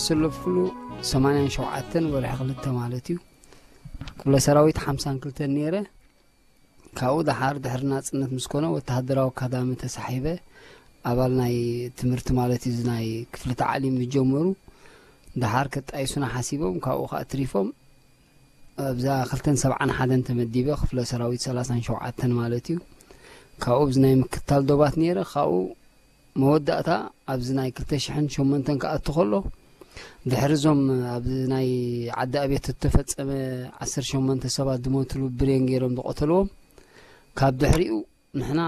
ዝተሰለፍኩሉ ሰማንያን ሸውዓተን ወርሒ ክልተ ማለት እዩ። ክፍለ ሰራዊት ሓምሳን ክልተን ነይረ። ካብኡ ደሓር ድሕሪ ናጽነት ምስ ኮነ ወተሃደራዊ ኣካዳሚ ተሳሒበ። ኣባል ናይ ትምህርቲ ማለት እዩ፣ እዚ ናይ ክፍሊ ታዕሊም ዝጀመሩ ደሓር ከጣይሱና ሓሲቦም፣ ካብኡ ከኣ ትሪፎም ኣብዛ ክልተን ሰብዓን ሓደን ተመዲበ፣ ክፍለ ሰራዊት ሰላሳን ሸውዓተን ማለት እዩ። ካብኡ ኣብዚ ናይ ምክትታል ዶባት ነይረ። ካብኡ መወዳእታ ኣብዚ ናይ ክልተ ሽሕን ሸሞንተን ክኣቱ ከሎ፣ ድሕሪ እዞም ኣብዚ ናይ ዓዲ ኣቤት እተፈጸመ ዓሰርተ ሸሞንተ ሰባት ዝሞትሉ ብሬን ገይሮም ዝቐተልዎም፣ ካብ ድሕሪኡ ንሕና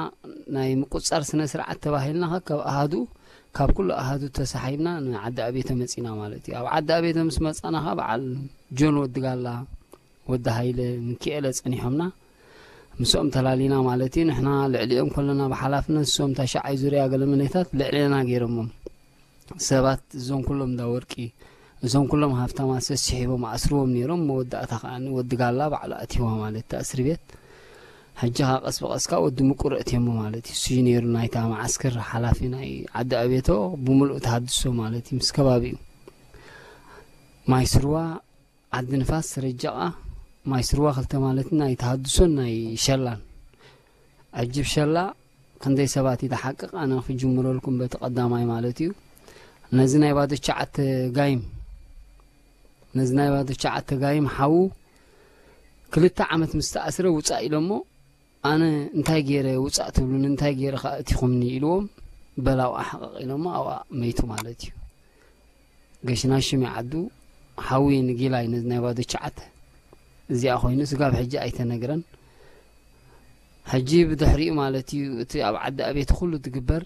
ናይ ምቁጽጻር ስነ ስርዓት ተባሂልና ካብ ኣሃዱ፣ ካብ ኩሉ ኣሃዱ ተሳሒብና ንዓዲ ኣቤተ መጺና ማለት እዩ። ኣብ ዓዲ ኣቤተ ምስ መጻና ኸኣ በዓል ጆን ወዲ ጋላ፣ ወዲ ሃይለ፣ ምኪኤለ ጸኒሖምና። ምስኦም ተላሊና ማለት እዩ። ንሕና ልዕሊኦም ከለና ብሓላፍነት፣ እሶም ታሽዓይ ዙርያ ገለ መለታት ልዕሌና ገይሮሞም። ሰባት እዞም ኩሎም እንዳ ወርቂ፣ እዞም ኩሎም ሃፍታማት ሰሲሒቦም ኣስርዎም ነይሮም። መወዳእታ ከኣ ወዲ ጋላ ባዕሉ ኣትይዋ ማለት እታ እስሪ ቤት። ሕጂ ኸኣ ቀስ ብቐስ ከኣ ወዲ ምቁር ኣእትዮሞ ማለት እዩ። እሱ እዩ ነይሩ ናይታ መዓስከር ሓላፊ ናይ ዓዲ ኣቤቶ ብምሉእ ተሃድሶ ማለት እዩ፣ ምስ ከባቢኡ። ማይ ስርዋ፣ ዓዲ ንፋስ፣ ረጃቓ፣ ማይ ስርዋ ክልተ ማለት ናይ ተሃድሶን ናይ ሸላን። ዕጅብ ሸላ ክንደይ ሰባት ይተሓቅቕ፣ ኣነ ክጅምረልኩም በቲ ቀዳማይ ማለት እዩ። ነዚ ናይ ባዶ ትሽዓተ ጋይም፣ ነዚ ናይ ባዶ ትሽዓተ ጋይም ሓዉ ክልተ ዓመት ምስ ተኣስረ ውጻእ ኢሎሞ፣ ኣነ እንታይ ገይረ ውጻእ ትብሉኒ፣ እንታይ ገይረ ከኣ እቲኹምኒ ኢልዎም፣ በላው ኣሕቐቕ ኢሎሞ ኣብኣ መይቱ ማለት እዩ። ገሽና ሽም ዓዱ ሓዊ ንጊላይ ነዚ ናይ ባዶ ትሽዓተ እዚኣ ኮይኑ ስጋብ ሕጂ ኣይተነግረን። ሕጂ ብድሕሪኡ ማለት እዩ እቲ ኣብ ዓዲ ኣቤት ኩሉ ትግበር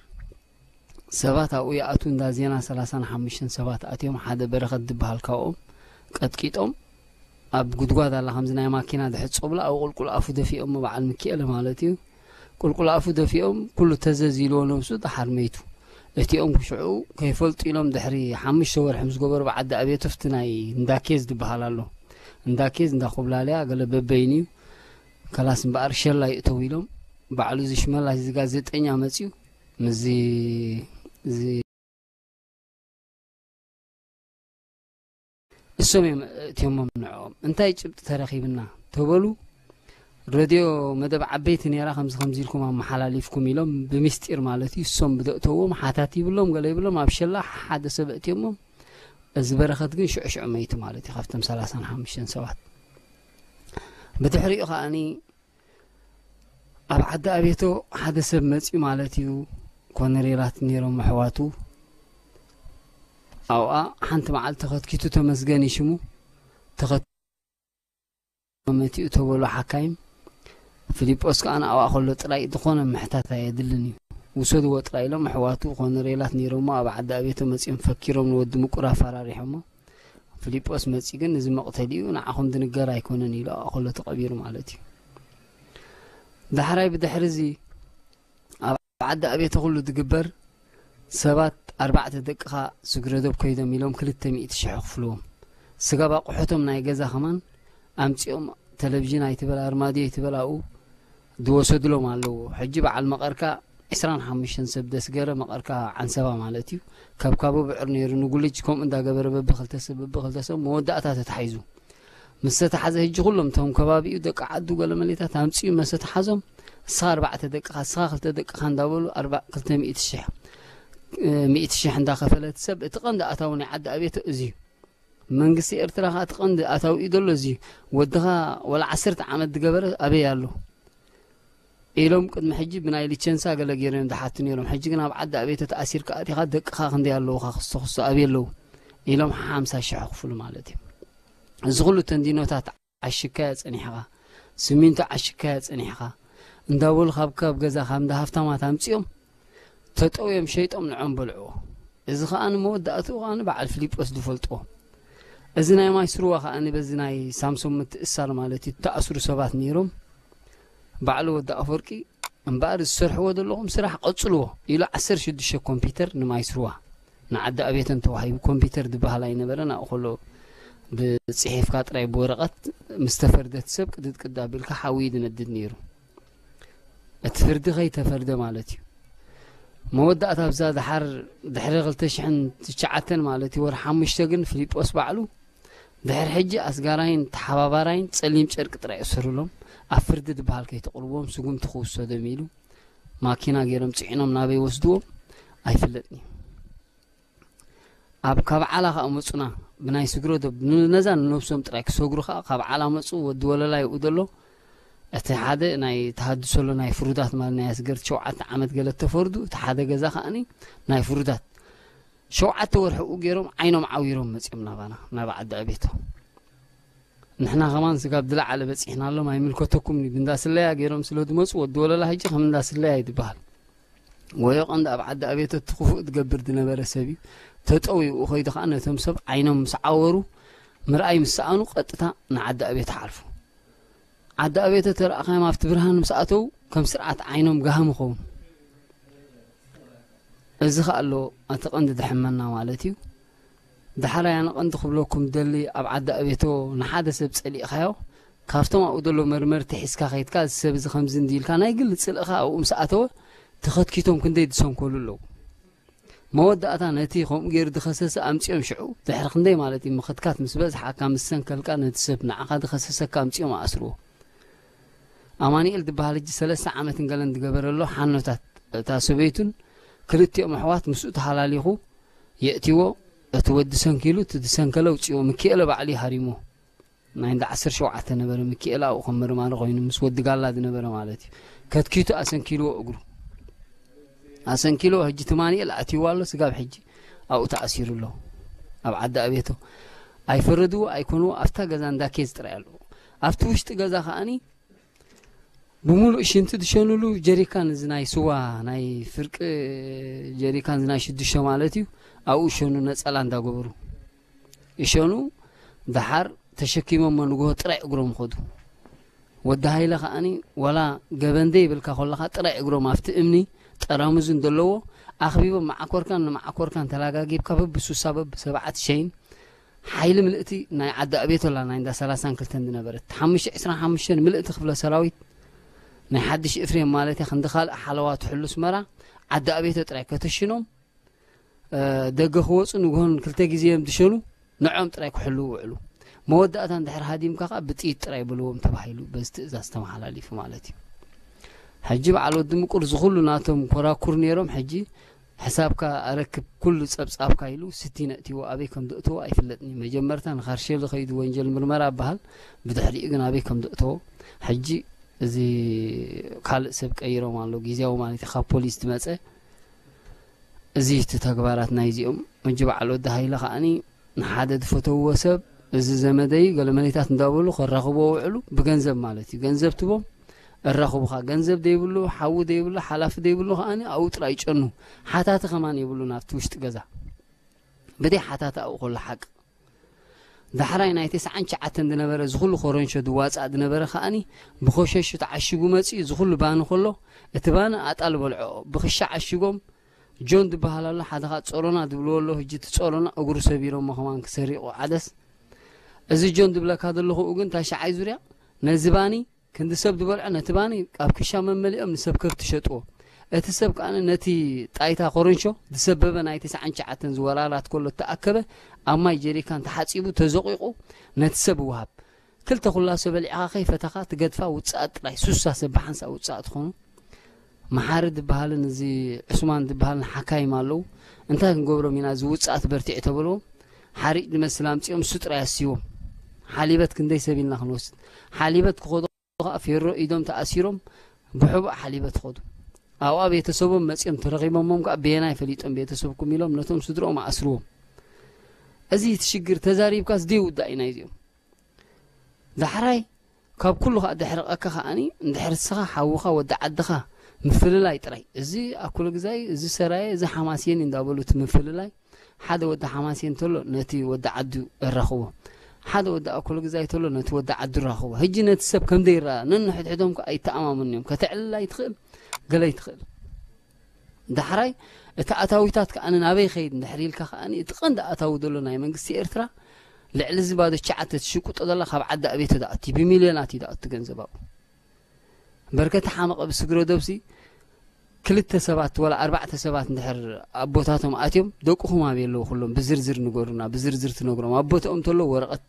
ሰባት ኣብኡ ይኣትዉ እንዳ ዜና ሰላሳን ሓሙሽተን ሰባት ኣትዮም ሓደ በረኸት ዝበሃል ካብኦም ቀጥቂጦም ኣብ ጉድጓድ ኣላ ከምዚ ናይ ማኪና ድሕጸብላ ኣብኡ ቁልቁል ኣፉ ደፊኦሞ በዓል ሚኪኤለ ማለት እዩ። ቁልቁል ኣፉ ደፊኦም ኩሉ ተዘዝ ኢልዎ ነብሱ ደሓር መይቱ። እቲኦም ክሽዑ ከይፈልጡ ኢሎም ድሕሪ ሓሙሽተ ወርሒ ምስ ገበሩ ብዓዲ ኣቤት ፍቲ ናይ እንዳ ኬዝ ዝበሃል ኣሎ። እንዳ ኬዝ እንዳ ኮብላለያ ገለ በበይኑ እዩ። ከላስ እምበኣር ሸላ ይእተው ኢሎም ባዕሉ እዚ ሽመላሽ እዚ ጋዜጠኛ መፅዩ ምስዚ እዚ እሶም እዮም እእትዮሞም ንዕኦም እንታይ ጭብጢ ተረኺብና ተበሉ። ረድዮ መደብ ዓበይቲ ነይራ ከምዚ ከምዚ ኢልኩም ኣመሓላሊፍኩም ኢሎም ብምስጢር ማለት እዩ እሶም ብደእተዎም ሓታት ይብሎም ገለ ይብሎም ኣብ ሸላ ሓደ ሰብ እእትዮሞም። እዚ በረኸት ግን ሽዑ ሽዑ መይቱ ማለት እዩ ካብቶም ሰላሳን ሓሙሽተን ሰባት። ብድሕሪኡ ከኣኒ ኣብ ዓዲ ኣቤቶ ሓደ ሰብ መፅዩ ማለት እዩ። ኮነሬላት ነይሮም ኣሕዋቱ ኣብኣ ሓንቲ መዓልቲ ተኸትኪቱ ተመስገን እዩ ሽሙ ተኸትኪቱ መቲኡ ተበሉ ሓካይም። ፊሊጶስ ከዓ ንኣብኣ ከሎ ጥራይ ዝኾነ ምሕታት ኣየድልን እዩ። ውሰድዎ ጥራይ ኢሎም ኣሕዋቱ ኮነሬላት ነይሮሞ ኣብ ዓዲ ኣቤቶ መፂኦም ፈኪሮም ንወዲ ምቁር ኣፈራሪሖሞ። ፊሊጶስ መፂ ግን እዚ መቕተሊኡ ንዓኹም ድንገር ኣይኮነን ኢሉ ኣብኣ ከሎ ተቐቢሩ ማለት እዩ። ዳሕራይ ብድሕሪ እዚ ኣብ ዓዲ ኣቤተ ኩሉ ዝግበር ሰባት ኣርባዕተ ደቅኻ ስግረዶብ ኮይዶም ኢሎም ክልተ ሚእቲ ሽሕ ክፍልዎም ስጋብ ኣቑሑቶም ናይ ገዛ ከማን ኣምፂኦም ተለቪዥን ኣይትበል ኣርማድዮ ኣይትበል ኣብኡ ዝወሰድሎም ኣለዎ። ሕጂ በዓል መቐርካ ዕስራን ሓሙሽተን ሰብ ደስገረ መቐርካ ዓንሰባ ማለት እዩ። ካብ ካቦ ብዕር ነይሩ ንጉልጅ ከምኡ እንዳገበረ በብክልተ ሰብ በብክልተ ሰብ መወዳእታ ተታሒዙ ምስ ተታሓዘ ሕጂ ኩሎም እቶም ከባቢኡ ደቂ ዓዱ ገለ መሌታት ኣምፅኡ መሰ ተሓዞም እስኻ ኣርባዕተ ደቅኻ እስኻ ክልተ ደቅኻ እንዳበሉ ኣርባ ክልተ ሚእቲ ሽሕ ሚእቲ ሽሕ እንዳኸፈለት ሰብ እቲ ቀንዲ ኣታዊ ናይ ዓዲ ኣቤት እዚ እዩ። መንግስቲ ኤርትራ ከዓ እቲ ቀንዲ ኣታዊ እዩ ዘሎ እዚ ወድኻ ወላ ዓሰርተ ዓመት ዝገበረ ኣበይ ኣሎ ኢሎም ቅድሚ ሕጂ ብናይ ሊቸንሳ ገለ ገይሮም ዝሓቱ ነይሮም። ሕጂ ግን ኣብ ዓዲ ኣቤት ተኣሲርካ ኣቲኻ ደቅኻ ክንደይ ኣለውኻ ክስቶ ክስቶ ኣበይ ኣለዉ ኢሎም ሓምሳ ሽሕ ክፍሉ ማለት እዩ። እዚ ኩሉ ተንዲኖታት ዓሽካያ ጸኒሕኻ ስሚንቶ ዓሽካያ ጸኒሕኻ እንዳበሉ ካብ ካብ ገዛ ካብ እንዳ ሃፍታማት ኣምጺኦም ተጠውዮም ሸይጦም ንዖም በልዕዎ። እዚ ኸኣ ንመወዳእትኡ ኸኣ ንበዓል ፊሊጶስ ዝፈልጥዎ። እዚ ናይ ማይ ስርዋ ኸኣ ንበዚ ናይ ሳምሶም ምትእሳር ማለት እዩ ተኣስሩ ሰባት ነይሮም። ባዕሉ ወዲ ኣፈወርቂ እምበኣር ዝሰርሕዎ ዘለኹም ስራሕ ቀጽልዎ ኢሉ ዓሰርተ ሽዱሽተ ኮምፒውተር ንማይ ስርዋ ንዓዲ ኣቤተን ተዋሂቡ ኮምፒውተር ዝበሃል ኣይነበረን ኣብኡ ከሎ ብፅሒፍካ ጥራይ ብወረቐት ምስ ተፈርደት ሰብ ቅድድ ቅድ ኣቢልካ ሓዊ እዩ ዝነድድ ነይሩ እቲ ፍርዲ ከይተፈርደ ማለት እዩ መወዳእታ ኣብዛ ድሓር ድሕሪ ክልተ ሽሕን ትሽዓተን ማለት እዩ፣ ወርሒ ሓሙሽተ ግን ፊሊጶስ ባዕሉ ድሕሪ ሕጂ ኣስጋራይን ተሓባባራይን ጸሊም ጨርቂ ጥራይ እሰሩሎም፣ ኣብ ፍርዲ ዝበሃል ከይተቕርብዎም ስጉምቲ ክውሰዶም ኢሉ ማኪና ገይሮም ጽዒኖም ናበይ ወስድዎም ኣይፍለጥን እዩ። ኣብ ካብ ዓላ ከኣ መጹና ብናይ ስግሮ ዶ-፣ ን-፣ ነዛ ንነብሶም ጥራይ ክሰግሩ ከኣ ካብ ዓላ መጹ። ወዲ ወለላ ይኡ ዘሎ እቲ ሓደ ናይ ተሃድሶ ኣሎ ናይ ፍሩዳት ማለት ናይ ኣስገርት ሸውዓተ ዓመት ገለ ተፈርዱ። እቲ ሓደ ገዛ ከኣኒ ናይ ፍሩዳት ሸውዓተ ወርሒ ኡ ገይሮም ዓይኖም ዓዊሮም መጺኦም ናባና ናብ ዓዲ ኣቤቶ። ንሕና ከማን ስጋብ ዝለዓለ በጺሕና ኣሎም ኣይምልከተኩም እዩ። ብእንዳ ስለያ ገይሮም ስለ ዝመጹ ወዲ ወለላ ሕጂ ከም እንዳ ስለያ እዩ ዝበሃል። ወዮ ቀንዲ ኣብ ዓዲ ኣቤቶ እቲ ክፉእ ዝገብር ዝነበረ ሰብ እዩ። ተጠው ይኡ ኸይዱ ከኣ ነቶም ሰብ ዓይኖም ምስ ዓወሩ ምርኣይ ምስ ሰኣኑ ቀጥታ ንዓዲ ኣቤቶ ሓልፉ። ዓዲ ኣቤቶ ተረኣኻዮም ኣብቲ ብርሃን ምስ ኣተው ከም ስርዓት ዓይኖም ጋህም ኸውን። እዚ ከኣ ኣሎ እቲ ቀንዲ ድሕመና ማለት እዩ። ዳሕራይ ኣነ ቀንዲ ክብለኩም ደሊ ኣብ ዓዲ ኣቤቶ ንሓደ ሰብ ጸሊእኻዮ ካብቶም ኣብኡ ዘሎ መርመርቲ ሒዝካ ከይድካ እዚ ሰብ እዚ ከምዚ እንዲ ኢልካ ናይ ግሊ ጽልእኻ ኣብኡ ምስ ኣተወ ተኸትኪቶም ክንደይ ዝሰንከሉ ኣለዉ። መወዳእታ ነቲ ከምኡ ገይሩ ዝኸሰሰ ኣምጺኦም ሽዑ ድሕሪ ክንደይ ማለት እዩ ምኽትካት ምስ በዝሓካ ምስ ሰንከልካ ነቲ ሰብ ንዓኻ ዝኸሰሰካ ኣምጺኦም ኣስርዎ። ኣማኑኤል ዝበሃል ሕጂ ሰለስተ ዓመትን ገለን ዝገበረ ኣሎ ሓኖታት እታ ሰበይቱን ክልቲኦም ኣሕዋት ምስኡ ተሃላሊኹ የእትዎ። እቲ ወዲ ሰንኪሉ እቲ ዝሰንከለ ኣውጺዎ ምኪኤለ ባዕሉ ይሃሪሞ። ናይ እንዳ ዓሰርተ ሸውዓተ ነበረ ምኪኤለ ኣብኡ ከም መርማሪ ኮይኑ ምስ ወዲ ጋላ ዝነበረ ማለት እዩ። ከትኪቱ ኣሰንኪልዎ እግሩ ኣሰንኪልዎ ሕጂ ትማኒኤል ኣትይዎ ኣሎ ስጋብ ሕጂ ኣብኡ ተኣሲሩ ኣሎ። ኣብ ዓዲ ኣቤቶ ኣይፈረድዎ ኣይኮንዎ ኣብታ ገዛ እንዳ ኬዝ ጥራይ ኣለዎ። ኣብቲ ውሽጢ ገዛ ከኣኒ ብምሉእ ሽንቲ ዝሸኑሉ ጀሪካን እዚ ናይ ስዋ ናይ ፍርቂ ጀሪካን እዚ ናይ ሽዱሽተ ማለት እዩ። ኣብኡ ሸኑ ነጸላ እንዳገበሩ ይሸኑ። ደሓር ተሸኪሞሞ ንግሆ ጥራይ እግሮም ኸዱ። ወዲ ሃይለ ከኣኒ ዋላ ገበን ዘይብልካ ከለኻ ጥራይ እግሮም ኣብቲ እምኒ ጠራሙዝ እንደለዎ ኣኽቢቦም መዓኮርካን ንመዓኮርካን ተላጋጊብካ በብሱሳ በብሰብዓት ሸይን ሓይሊ ምልእቲ ናይ ዓዲ ኣቤቶ ኣላ ናይ እንዳ ሰላሳን ክልተን ዝነበረት ሓሙሽተ ዕስራን ሓሙሽተን ምልእቲ ክፍለ ሰራዊት ናይ ሓድሽ እፍሬም ማለት እያ ክንዲ ካልእ ሓለዋ ትሕሉ ኣስመራ ዓዲ ኣቤቶ ጥራይ ከተሽኖም ደገ ክወፁ ንግሆን ክልተ ግዜ እዮም ዝሸኑ። ንዖም ጥራይ ክሕልዉ ውዕሉ። መወዳእታ እንድሕር ሃዲምካ ከዓ ብጥይት ጥራይ በልዎም ተባሂሉ በዚ ትእዛዝ ተመሓላሊፉ ማለት እዩ። ሕጂ በዓል ወዲ ምቁር ዝኹሉ ናቶም ኮራኩር ነይሮም። ሕጂ ሕሳብካ ኣረክብ ኩሉ ፀብፃብካ ኢሉ ስቲ ነእትዎ ኣበይ ከም ዘእትዎ ኣይፍለጥን እዩ። መጀመርታ ንካርሼል ዝኸይዱ ወንጀል ምርመራ በሃል ብድሕሪኡ ግን ኣበይ ከም ዘእተዎ ሕጂ እዚ ካልእ ሰብ ቀይሮም ኣሎ ግዜያዊ ማለት እዩ ካብ ፖሊስ ዝመፀ እዚ እቲ ተግባራት ናይዚኦም። ሕጂ በዓል ወዲ ሃይለ ከዓኒ ንሓደ ዝፈተውዎ ሰብ እዚ ዘመደይ ገለ መለይታት እንዳበሉ ከራኽብዎ ውዕሉ ብገንዘብ ማለት እዩ። ገንዘብ ትቦም እራኽቡኻ። ገንዘብ ዘይብሉ፣ ሓዊ ዘይብሉ፣ ሓላፊ ዘይብሉ ከዓኒ ኣብኡ ጥራይ ይጨኑ። ሓታቲ ከማን የብሉን ኣብቲ ውሽጢ ገዛ። ብደይ ሓታቲ ኣብኡ ከሎ ሓቂ። ዳሕራይ ናይ ተስዓን ትሽዓተን ዝነበረ ዝኹሉ ኮረንሾ ዝዋፃእ ዝነበረ ከዓኒ ብኮሸሹ ተዓሽጉ መፂኡ ዝኹሉ ባኒ ከሎ እቲ ባኒ ኣጣል በልዖ ብክሻ ዓሽጎም ጆን ዝበሃል ኣሎ ሓደ ከዓ ፆሮና ዝብልዎ ኣሎ ህጂ እቲ ፆሮና እግሩ ሰቢሮሞ ከማን ክሰሪቑ ዓደስ እዚ ጆን ዝብለካ ዘለኹ ግን ታሽዓይ ዙርያ ነዚ ባኒ ክንዲ ሰብ ዝበልዖ ነቲ ባኒ ኣብ ክሻ መመሊኦም ንሰብ ከብቲ ሸጥዎ። እቲ ሰብ ከኣ ነቲ ጣይታ ኮረንሾ ዝሰበበ ናይ ተስዓን ትሽዓተን ዝወራራት ከሎ እተኣከበ ኣብ ማይ ጀሪካን ተሓጺቡ ተዘቂቑ ነቲ ሰብ ይወሃብ። ክልተ ኩላሶ በሊዕኻ ከይፈተኻ ትገድፋ ውጽኣት ጥራይ። ሱሳ ሰብ ብሓንሳእ ውጽኣት ትኾኑ። መሓሪ ዝበሃልን እዚ ዑስማን ዝበሃልን ሓካይም ኣለዉ። እንታይ ክንገብሮም ኢና እዚ ውጽኣት በርቲዕ ተበልዎም። ሓሪጭ ዝመስል ኣምጺኦም እሱ ጥራይ ኣስይዎም። ሓሊበት ክንደይ ሰብ ኢልና ክንወስድ። ሓሊበት ክኸዱ ከዓ ፌሮ ኢዶም ተኣሲሮም ብሕቡእ ሓሊበት ኸዱ። ኣብኣ ቤተሰቦም መጺኦም ተረኺቦሞም ከዓ በየናይ ፈሊጦም ቤተሰብኩም ኢሎም ነቶም ስድርኦም ኣስርዎም። እዚ እቲ ሽግር ተዛሪብካስ ዘይውዳእ እዩ ናይዚኦም። ዳሕራይ ካብ ኩሉ ከዓ ደሕርቐካ ከዓኒ እንድሕር ንስኻ ሓውኻ ወዲ ዓድኻ ምፍልላይ ጥራይ። እዚ ኣኩለ ግዛይ፣ እዚ ሰራየ፣ እዚ ሓማስየን እንዳበሉ እቲ ምፍልላይ ሓደ ወዲ ሓማሴን ተሎ ነቲ ወዲ ዓዱ እራኽቦ፣ ሓደ ወዲ ኣኮሎ ግዛይ ተሎ ነቲ ወዲ ዓዱ እራኽቦ። ሕጂ ነቲ ሰብ ከም ዘይረኣ ነንሕድሕዶም ከኣ ኣይተኣማመኑን እዮም። ከተዕልል ኣይትኽእል፣ ገለ ኣይትኽእል። ዳሕራይ እቲ ኣታዊታት ከኣ ናበይ ኸይድ እንድሕር ኢልካ ከኣ እቲ ቀንዲ ኣታዊ ዘሎ ናይ መንግስቲ ኤርትራ ልዕሊ እዚ ባዶ ትሽዓተ ትሽቁጦ ዘላ ካብ ዓዲ ኣቤቶ ዝኣቲ ብሚልዮናት እዩ ዝኣቱ ገንዘብ ኣብኡ። በርከቲ ሓመቐ ብስግረ ዶብሲ ክልተ ሰባት ወላ ኣርባዕተ ሰባት እንድሕር ኣቦታቶም ኣትዮም፣ ደቁኹም ኣበይ ኣለዉ? ኩሎም ብዝርዝር ንገሩና። ብዝርዝር ትነግሮም። ኣቦታኦም እንተሎ ወረቐት፣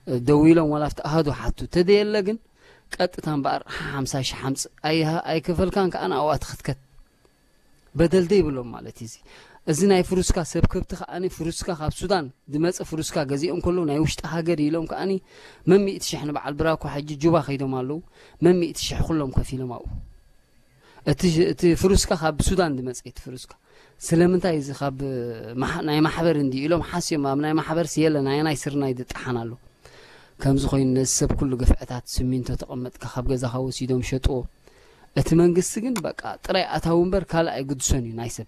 እ፣ ደዊሎም ዋላ ኣብቲ ኣሃዱ ሓቱ። ተደየለ ግን ቀጥታ እምበኣር ሓምሳ ሺሕ ሓምጽእ። ኣይሃ-፣ ኣይከፈልካን ከኣ ንኣዋ ትኽትከት። በደል ደይብሎም ማለት እዩ እዚ። እዚ ናይ ፍሩስካ ሰብ ከብቲ ከኣ ፍሩስካ ካብ ሱዳን ዝመጸ ፍሩስካ ገዚኦም ከለዉ ናይ ውሽጢ ሃገር ኢሎም ከኣ መን ሚእቲ ሺሕ ንበዓል ብራኮ ሕጂ ጁባ ከይዶም ኣለዉ። መን ሚእቲ ሺሕ ኩሎም ከፊሎም ኣብኡ። እቲ እቲ ፍሩስካ ካብ ሱዳን ዝመጸ እቲ ፍሩስካ። ስለምንታይ እዚ ካብ ማሕ-፣ ናይ ማሕበር እንዲ ኢሎም ሓስዮም ኣብ ናይ ማሕበር ስየለ ናይ ናይ ስርናይ ዝጠሓን ኣሎ። ከምዚ ኮይኑ ነዚ ሰብ ኩሉ ግፍዕታት ስሚንቶ ተቐመጥካ ካብ ገዛኻ ወሲዶም ሸጥዎ። እቲ መንግስቲ ግን በቃ ጥራይ ኣታዊ እምበር ካልእ ኣይግድሶን እዩ ናይ ሰብ።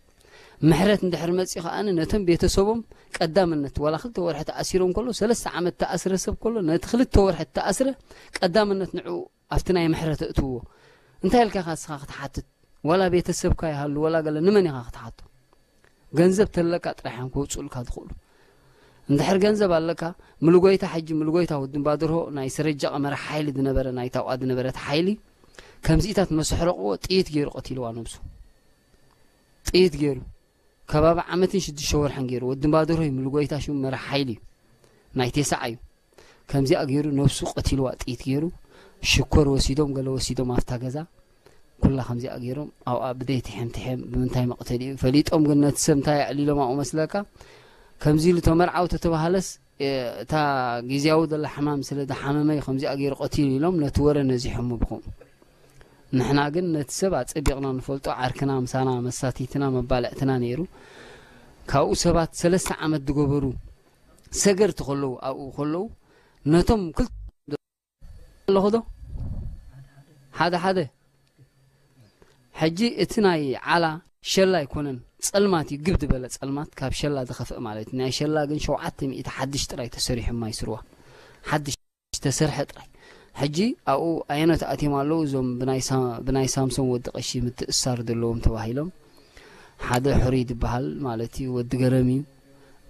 ምሕረት እንድሕር መጽኡ ከኣ ነቶም ቤተሰቦም ቀዳምነት ዋላ ክልተ ወርሒ ተኣሲሮም ከሎ ሰለስተ ዓመት ተኣስረ ሰብ ከሎ ነቲ ክልተ ወርሒ ተኣስረ ቀዳምነት ንዕኡ ኣብቲ ናይ ምሕረት እእትዎ። እንታይ ኢልካ ኢኻ ንስኻ ክትሓትት? ዋላ ቤተሰብካ ይሃሉ ዋላ ገለ ንመን ኢኻ ክትሓቶ? ገንዘብ ተለካ ጥራሕ እዮም ከውፅኡልካ ዝኽእሉ። እንድሕር ገንዘብ ኣለካ፣ ምልጎይታ ሕጂ ምልጎይታ ወዲ እምባደርሆ ናይ ሰረጃ ቀመረ ሓይሊ ዝነበረ ናይ ታውኣ ዝነበረት ሓይሊ ከምዚኢታት መሰሕረቕዎ ጥይት ገይሩ ቀቲልዋ ነብሱ። ጥይት ገይሩ ከባቢ ዓመትን ሽዱሽተ ወርሕን ገይሩ ወዲ እምባደርሆ እዩ ምልጎይታ ሽሙ መራሕ ሓይሊ እዩ። ናይ ቴስዓ እዩ። ከምዚኣ ገይሩ ነብሱ ቀቲልዋ ጥይት ገይሩ ሽኮር ወሲዶም ገለ ወሲዶም ኣብታ ገዛ ኩላ ከምዚኣ ገይሮም ኣብኣ ብደይ ትሕም ትሕም ብምንታይ መቕተሊ እዩ ፈሊጦም ግን ነቲ ሰብ እንታይ ኣዕሊሎም ኣብኡ መስለካ ከምዚ ኢሉ ተመርዓው ተተባሃለስ እ፣ እታ ግዜያዊ ዘላ ሕማም ስለ ዝሓመመ እዩ ከምዚኣ ገይሩ ቀቲሉ ኢሎም ነቲ ወረ ነዚሖሞ ብኸምኡ። ንሕና ግን ነቲ ሰብ ኣጸቢቕና ንፈልጦ ዓርክና ምሳና መሳቲትና መባልዕትና ነይሩ። ካብኡ ሰባት ሰለስተ ዓመት ዝገበሩ ሰገርቲ ከለዉ ኣብኡ ከለዉ ነቶም ክልተ ኣለኹ ዶ ሓደ ሓደ ሕጂ እቲ ናይ ዓላ ሸላ ኣይኮነን ጸልማት እዩ ግብ ዝበለ ጸልማት ካብ ሸላ ዝኸፍእ ማለት እዩ ናይ ሸላ ግን ሸውዓተ ሚእቲ ሓድሽ ጥራይ ተሰሪሑ ማይ ስርዋ ሓድሽ ተሰርሐ ጥራይ ሕጂ ኣብኡ ኣየኖት ኣትዮም ኣለዉ እዞም ብናይ ሳ- ብናይ ሳምሶን ወዲ ቀሺ ምትእሳር ዘለዎም ተባሂሎም ሓደ ሕሩይ ዝበሃል ማለት እዩ ወዲ ገረም እዩ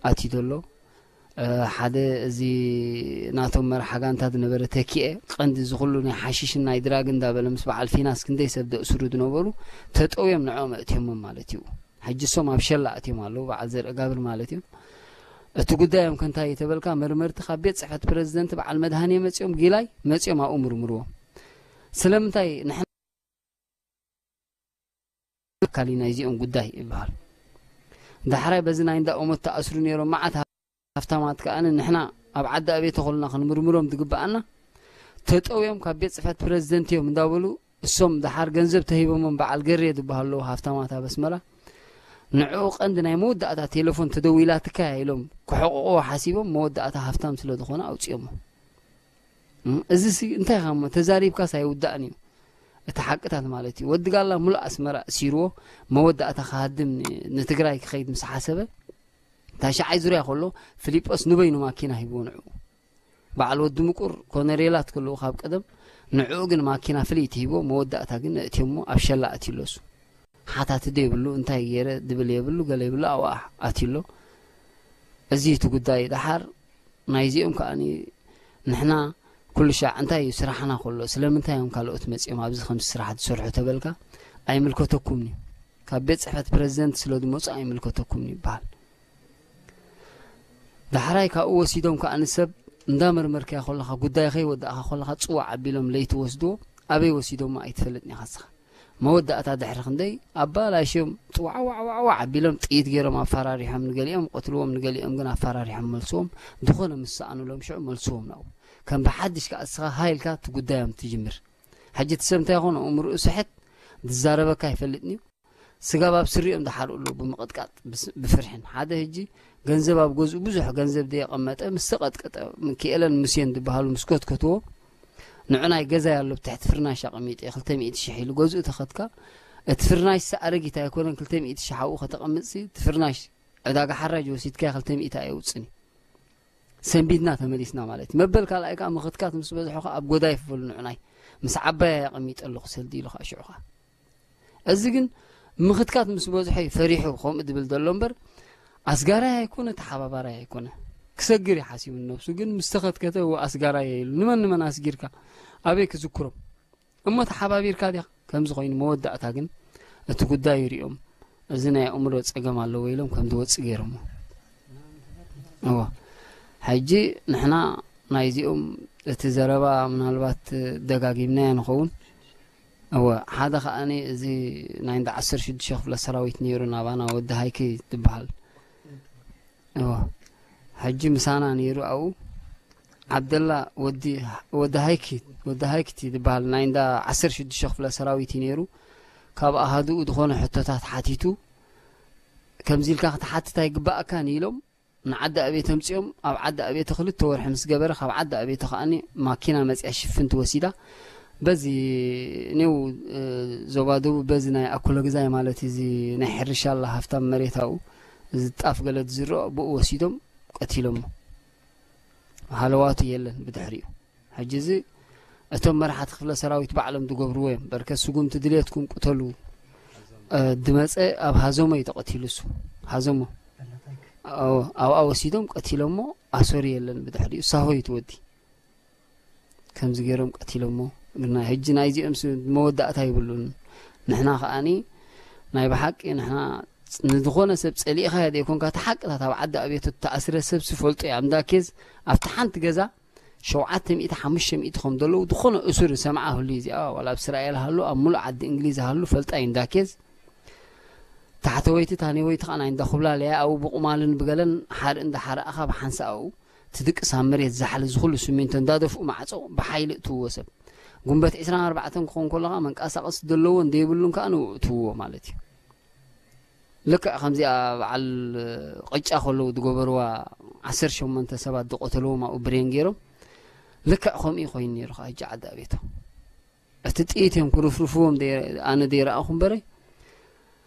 ኣትዩ ዘሎ ሓደ እዚ ናቶም መርሓ ጋንታ ዝነበረ ተኪኤ ቀንዲ እዚ ኩሉ ናይ ሓሽሽን ናይ ድራግ እንዳበለ ምስ በዓል ፊናስ ክንደይ ሰብ ዘእስሩ ዝነበሩ ተጠውዮም ንዕኦም ኣእትዮሞም ማለት እዩ። ሕጂ እሶም ኣብ ሸላ ኣእትዮም ኣለዉ በዓል ዘርኢ ጋብር ማለት እዩ። እቲ ጉዳዮም ከንታይ ተበልካ መርመርቲ ካብ ቤት ፅሕፈት ፕረዚደንት በዓል መድሃኔ መፅኦም ጊላይ መፅኦም ኣብኡ ምርምርዎም ስለምንታይ ንሕና ኣካል ናይዚኦም ጉዳይ ይበሃል። ዳሕራይ በዚ ናይ እንዳ ኦሞት ተኣስሩ ነይሮም መዓት ሃፍታማት ከኣ ንሕና ኣብ ዓዲ ኣበይ ተኾልና ክንምርምሮም ዝግብኣና ተጠውዮም ካብ ቤት ፅሕፈት ፕረዚደንት እዮም እንዳበሉ እሶም ደሓር ገንዘብ ተሂቦሞም በዓል ገሬ ዝበሃሉ ሃፍታማት ኣብ ኣስመራ ንዕኡ ቀንዲ ናይ መወዳእታ ቴሌፎን ተደዊላትካ ኢሎም ክሕቕቕዎ ሓሲቦም መወዳእታ ሃፍታም ስለ ዝኾነ ኣውፅኦሞ። እዚ ሲ እንታይ ኢኻ እሞ ተዛሪብካስ ኣይውዳእን እዩ። እቲ ሓቅታት ማለት እዩ። ወዲ ጋላ ሙሉእ ኣስመራ እሲርዎ መወዳእታ ክሃድም ን- ንትግራይ ክኸይድ ምስ ሓሰበ ታሽዓይ ዙርያ ከሎ ፊሊጶስ ንበይኑ ማኪና ሂብዎ ንዕኡ። በዓል ወዲ ምቁር ኮነሬላት ከለዉ ካብ ቀደም ንዕኡ ግን ማኪና ፍልይቲ ሂብዎ መወዳእታ ግን እእትዮሞ ኣብ ሸላ ኣትዩሎሱ። ሓታቲ ዶ የብሉ እንታይ ገይረ ድብል የብሉ ገለ የብሉ ኣብኣ ኣትዩሎ። እዚ እቲ ጉዳይ ደሓር ናይዚኦም ከኣ ንሕና ኩሉ ሻዕ እንታይ እዩ ስራሕና ከሎ ስለምንታይ እዮም ካልኦት መፂኦም ኣብዚ ከምዚ ስራሕ ዝሰርሑ ተበልካ ኣይምልከተኩምኒ ካብ ቤት ፅሕፈት ፕረዚደንት ስለ ዝመፁ ኣይምልከተኩምኒ ይበሃል። ዳሕራይ ካብኡ ወሲዶም ከኣ ንሰብ እንዳመርመርካዮ ከለኻ ጉዳይ ከይወዳእካ ከለኻ ፅዋዕ ኣቢሎም ለይቲ ወስድዎ ኣበይ ወሲዶሞ ኣይትፈልጥን ኢኻ ንስኻ። መወዳእታ ድሕሪ ክንደይ ኣባላሽዮም ጥዋዕዋዕዋዕዋዕ ኣቢሎም ጥይት ገይሮም ኣፈራሪሖም ንገሊኦም ቀትልዎም ንገሊኦም ግን ኣፈራሪሖም መልስዎም ዝኾነ ምስ ሰኣኑሎም ሽዑ መልስዎም ናብኡ ከም ብሓድሽ ከኣ እስኻ ሃይልካ እቲ ጉዳዮም ትጅምር። ሕጂ እቲ ሰብ እንታይ ይኾን ኣእምርኡ ስሕት ዝዛረበካ ኣይፈልጥን እዩ። ስጋብ ኣብ ስሪኦም ዝሓርኡ ኣለዉ ብምቕጥቃጥ ብስ- ብፍርሕን ሓደ ህጂ ገንዘብ ኣብ ገዝኡ ብዙሕ ገንዘብ ዘየቐመጠ ምስ ተቐጥቀጠ ክኤለን ሙሴን ዝበሃሉ ምስ ኮትኮትዎ ንዑ ናይ ገዛይ ኣሎ ብትሕቲ ፍርናሽ ኣቐሚጠ ክልተ ሚእቲ ሽሕ ኢሉ ገዝኡ ተኸትካ እቲ ፍርናሽ ሲ ኣረጊት ኣይኮነን ክልተ ሚእቲ ሽሕ ኣብኡ ከተቐምጥሲ እቲ ፍርናሽ ዕዳጋ ሓራጅ ወሲድካዮ ክልተ ሚእቲ ኣየውፅን እዩ ሰንቢድና ተመሊስና ማለት እዩ መበል ካልኣይ ከዓ ምኽትካት ምስ በዝሖ ከዓ ኣብ ጎዳይፍ በሉ ንዑናይ ምስ ዓባይ ኣቐሚጠ ኣለኹ ሰልዲ ኢሉ ከዓ ሽዑ ከዓ እዚ ግን ምኽትካት ምስ በዝሖ እዩ ፈሪሑ ከምኡ ዝብል ዘሎ እምበር ኣስጋራይ ኣይኮነ ተሓባባራይ ኣይኮነ ክሰግር እዩ ሓሲቡ ነብሱ ግን ምስ ተኸትከተ እወ ኣስጋራይ ኢሉ ንመን ንመን ኣስጊርካ ኣበይ ክዝክሮም እሞ ተሓባቢርካ ዲኻ ከምዚ ኮይኑ መወዳእታ ግን እቲ ጉዳይ ይሪኦም፣ እዚ ናይ ኣእምሮ ጸገም ኣለዎ ኢሎም ከም ዝወጽእ ገይሮሞ። እዎ፣ ሕጂ ንሕና ናይዚኦም እቲ ዘረባ ምናልባት ደጋጊምናዮ ንኸውን። እወ፣ ሓደ ከኣኒ እዚ ናይ እንዳ ዓሰርተ ሽዱሽተ ክፍለ ሰራዊት ነይሩ ናባና፣ ወዲ ሃይኪ ዝበሃል። እወ፣ ሕጂ ምሳና ነይሩ ኣብኡ። ዓብደላ ወዲ፣ ወዲ ሃይኪ፣ ወዲ ሃይክቲ ዝበሃል ናይ እንዳ ዓሰርተ ሽዱሽተ ክፍለ ሰራዊት እዩ ነይሩ። ካብ ኣሃዱኡ ዝኾነ ሕቶታት ሓቲቱ፣ ከምዚ ኢልካ ክትሓትት ኣይግባኣካን ኢሎም ንዓዲ ኣቤት ኣምጺኦም። ኣብ ዓዲ ኣቤት ክልተ ወርሒ ምስ ገበረ፣ ካብ ዓዲ ኣቤት ከኣኒ ማኪና መጺኣ ሽፍንቲ ወሲዳ። በዚ ኔው፣ እ፣ ዞባ ደቡብ በዚ ናይ ኣኩለ ግዛይ ማለት እዚ ናይ ሕርሻ ኣላ ሃፍታም መሬት ኣብኡ፣ እዚ ጣፍ ገለ ዝዝርኦ ብኡ ወሲዶም ቀቲሎሞ። ሃለዋቱ የለን ብድሕሪኡ። ሕጂ እዚ እቶም መራሕቲ ክፍለ ሰራዊት ባዕሎም ዝገብርዎ እዮም። በርከ ስጉምቲ ድልየትኩም ቅተሉ፣ እ፣ ድመጸ ኣብ ሃዘሞ እዩ ተቐቲሉ እሱ። ሃዘሞ። ኣዎ፣ ኣብኣ ወሲዶም ቀቲሎሞ። ኣሰሩ የለን ብድሕሪኡ። ሳሆ እዩ ትወዲ። ከምዚ ገይሮም ቀቲሎሞ። ግና ሕጂ ናይዚኦም ስ-፣ መወዳእታ ይብሉን። ንሕና ከኣኒ ናይ ብሓቂ ንሕና ንዝኾነ ሰብ ጸሊእኻዮ ዘይኮንካ፣ እቲ ሓቅታት ኣብ ዓዲ ኣቤት እተኣስረ ሰብ ዝፈልጦ እዩ። ኣብ እንዳ ኬዝ ኣብቲ ሓንቲ ገዛ ሸውዓተ ሚእቲ፣ ሓሙሽተ ሚእቲ ከም ዘለዉ ዝኾነ እሱር ዝሰምዓ ህሉ እዩ። እዚኣ ዋላ ኣብ እስራኤል ሃሉ፣ ኣብ ሙሉእ ዓዲ እንግሊዝ ሃሉ ፈልጣ እዩ። እንዳ ኬዝ ታሕተወይቲ ታኔወይቲ ከኣ ናይ እንዳ ኩብላለያ ኣብኡ ብቑማልን ብገለን ሓርኢ እንዳ ሓረእኻ ብሓንሳእ ኣብኡ ትድቅስ ኣብ መሬት ዛሕሊ ዝኹሉ ስሚንቶ እንዳደፍኡ ማዕጾ ብሓይሊ እትውዎ ሰብ። ጉንበት ዕስራን ኣርባዕተን ክኾን ከሎ ከኣ መንቀሳቐሲ ዘለዎን ዘይብሉን ከኣ ንኡ እትውዎ ማለት እዩ። ልክዕ ከምዚኣ በዓል ቅጫ ከለዉ ዝገበርዋ ዓሰርተ ሸሞንተ ሰባት ዝቐተልዎም ኣብኡ ብሬን ገይሮም ልክዕ ከምኡ እዩ ኮይኑ ነይሩ ከኣ ሕጂ ዓዲ ኣቤቶ። እቲ ጥይት እዮም ክርፍርፍዎም ደይ-፣ ኣነ ደይረኣኹ እምበረ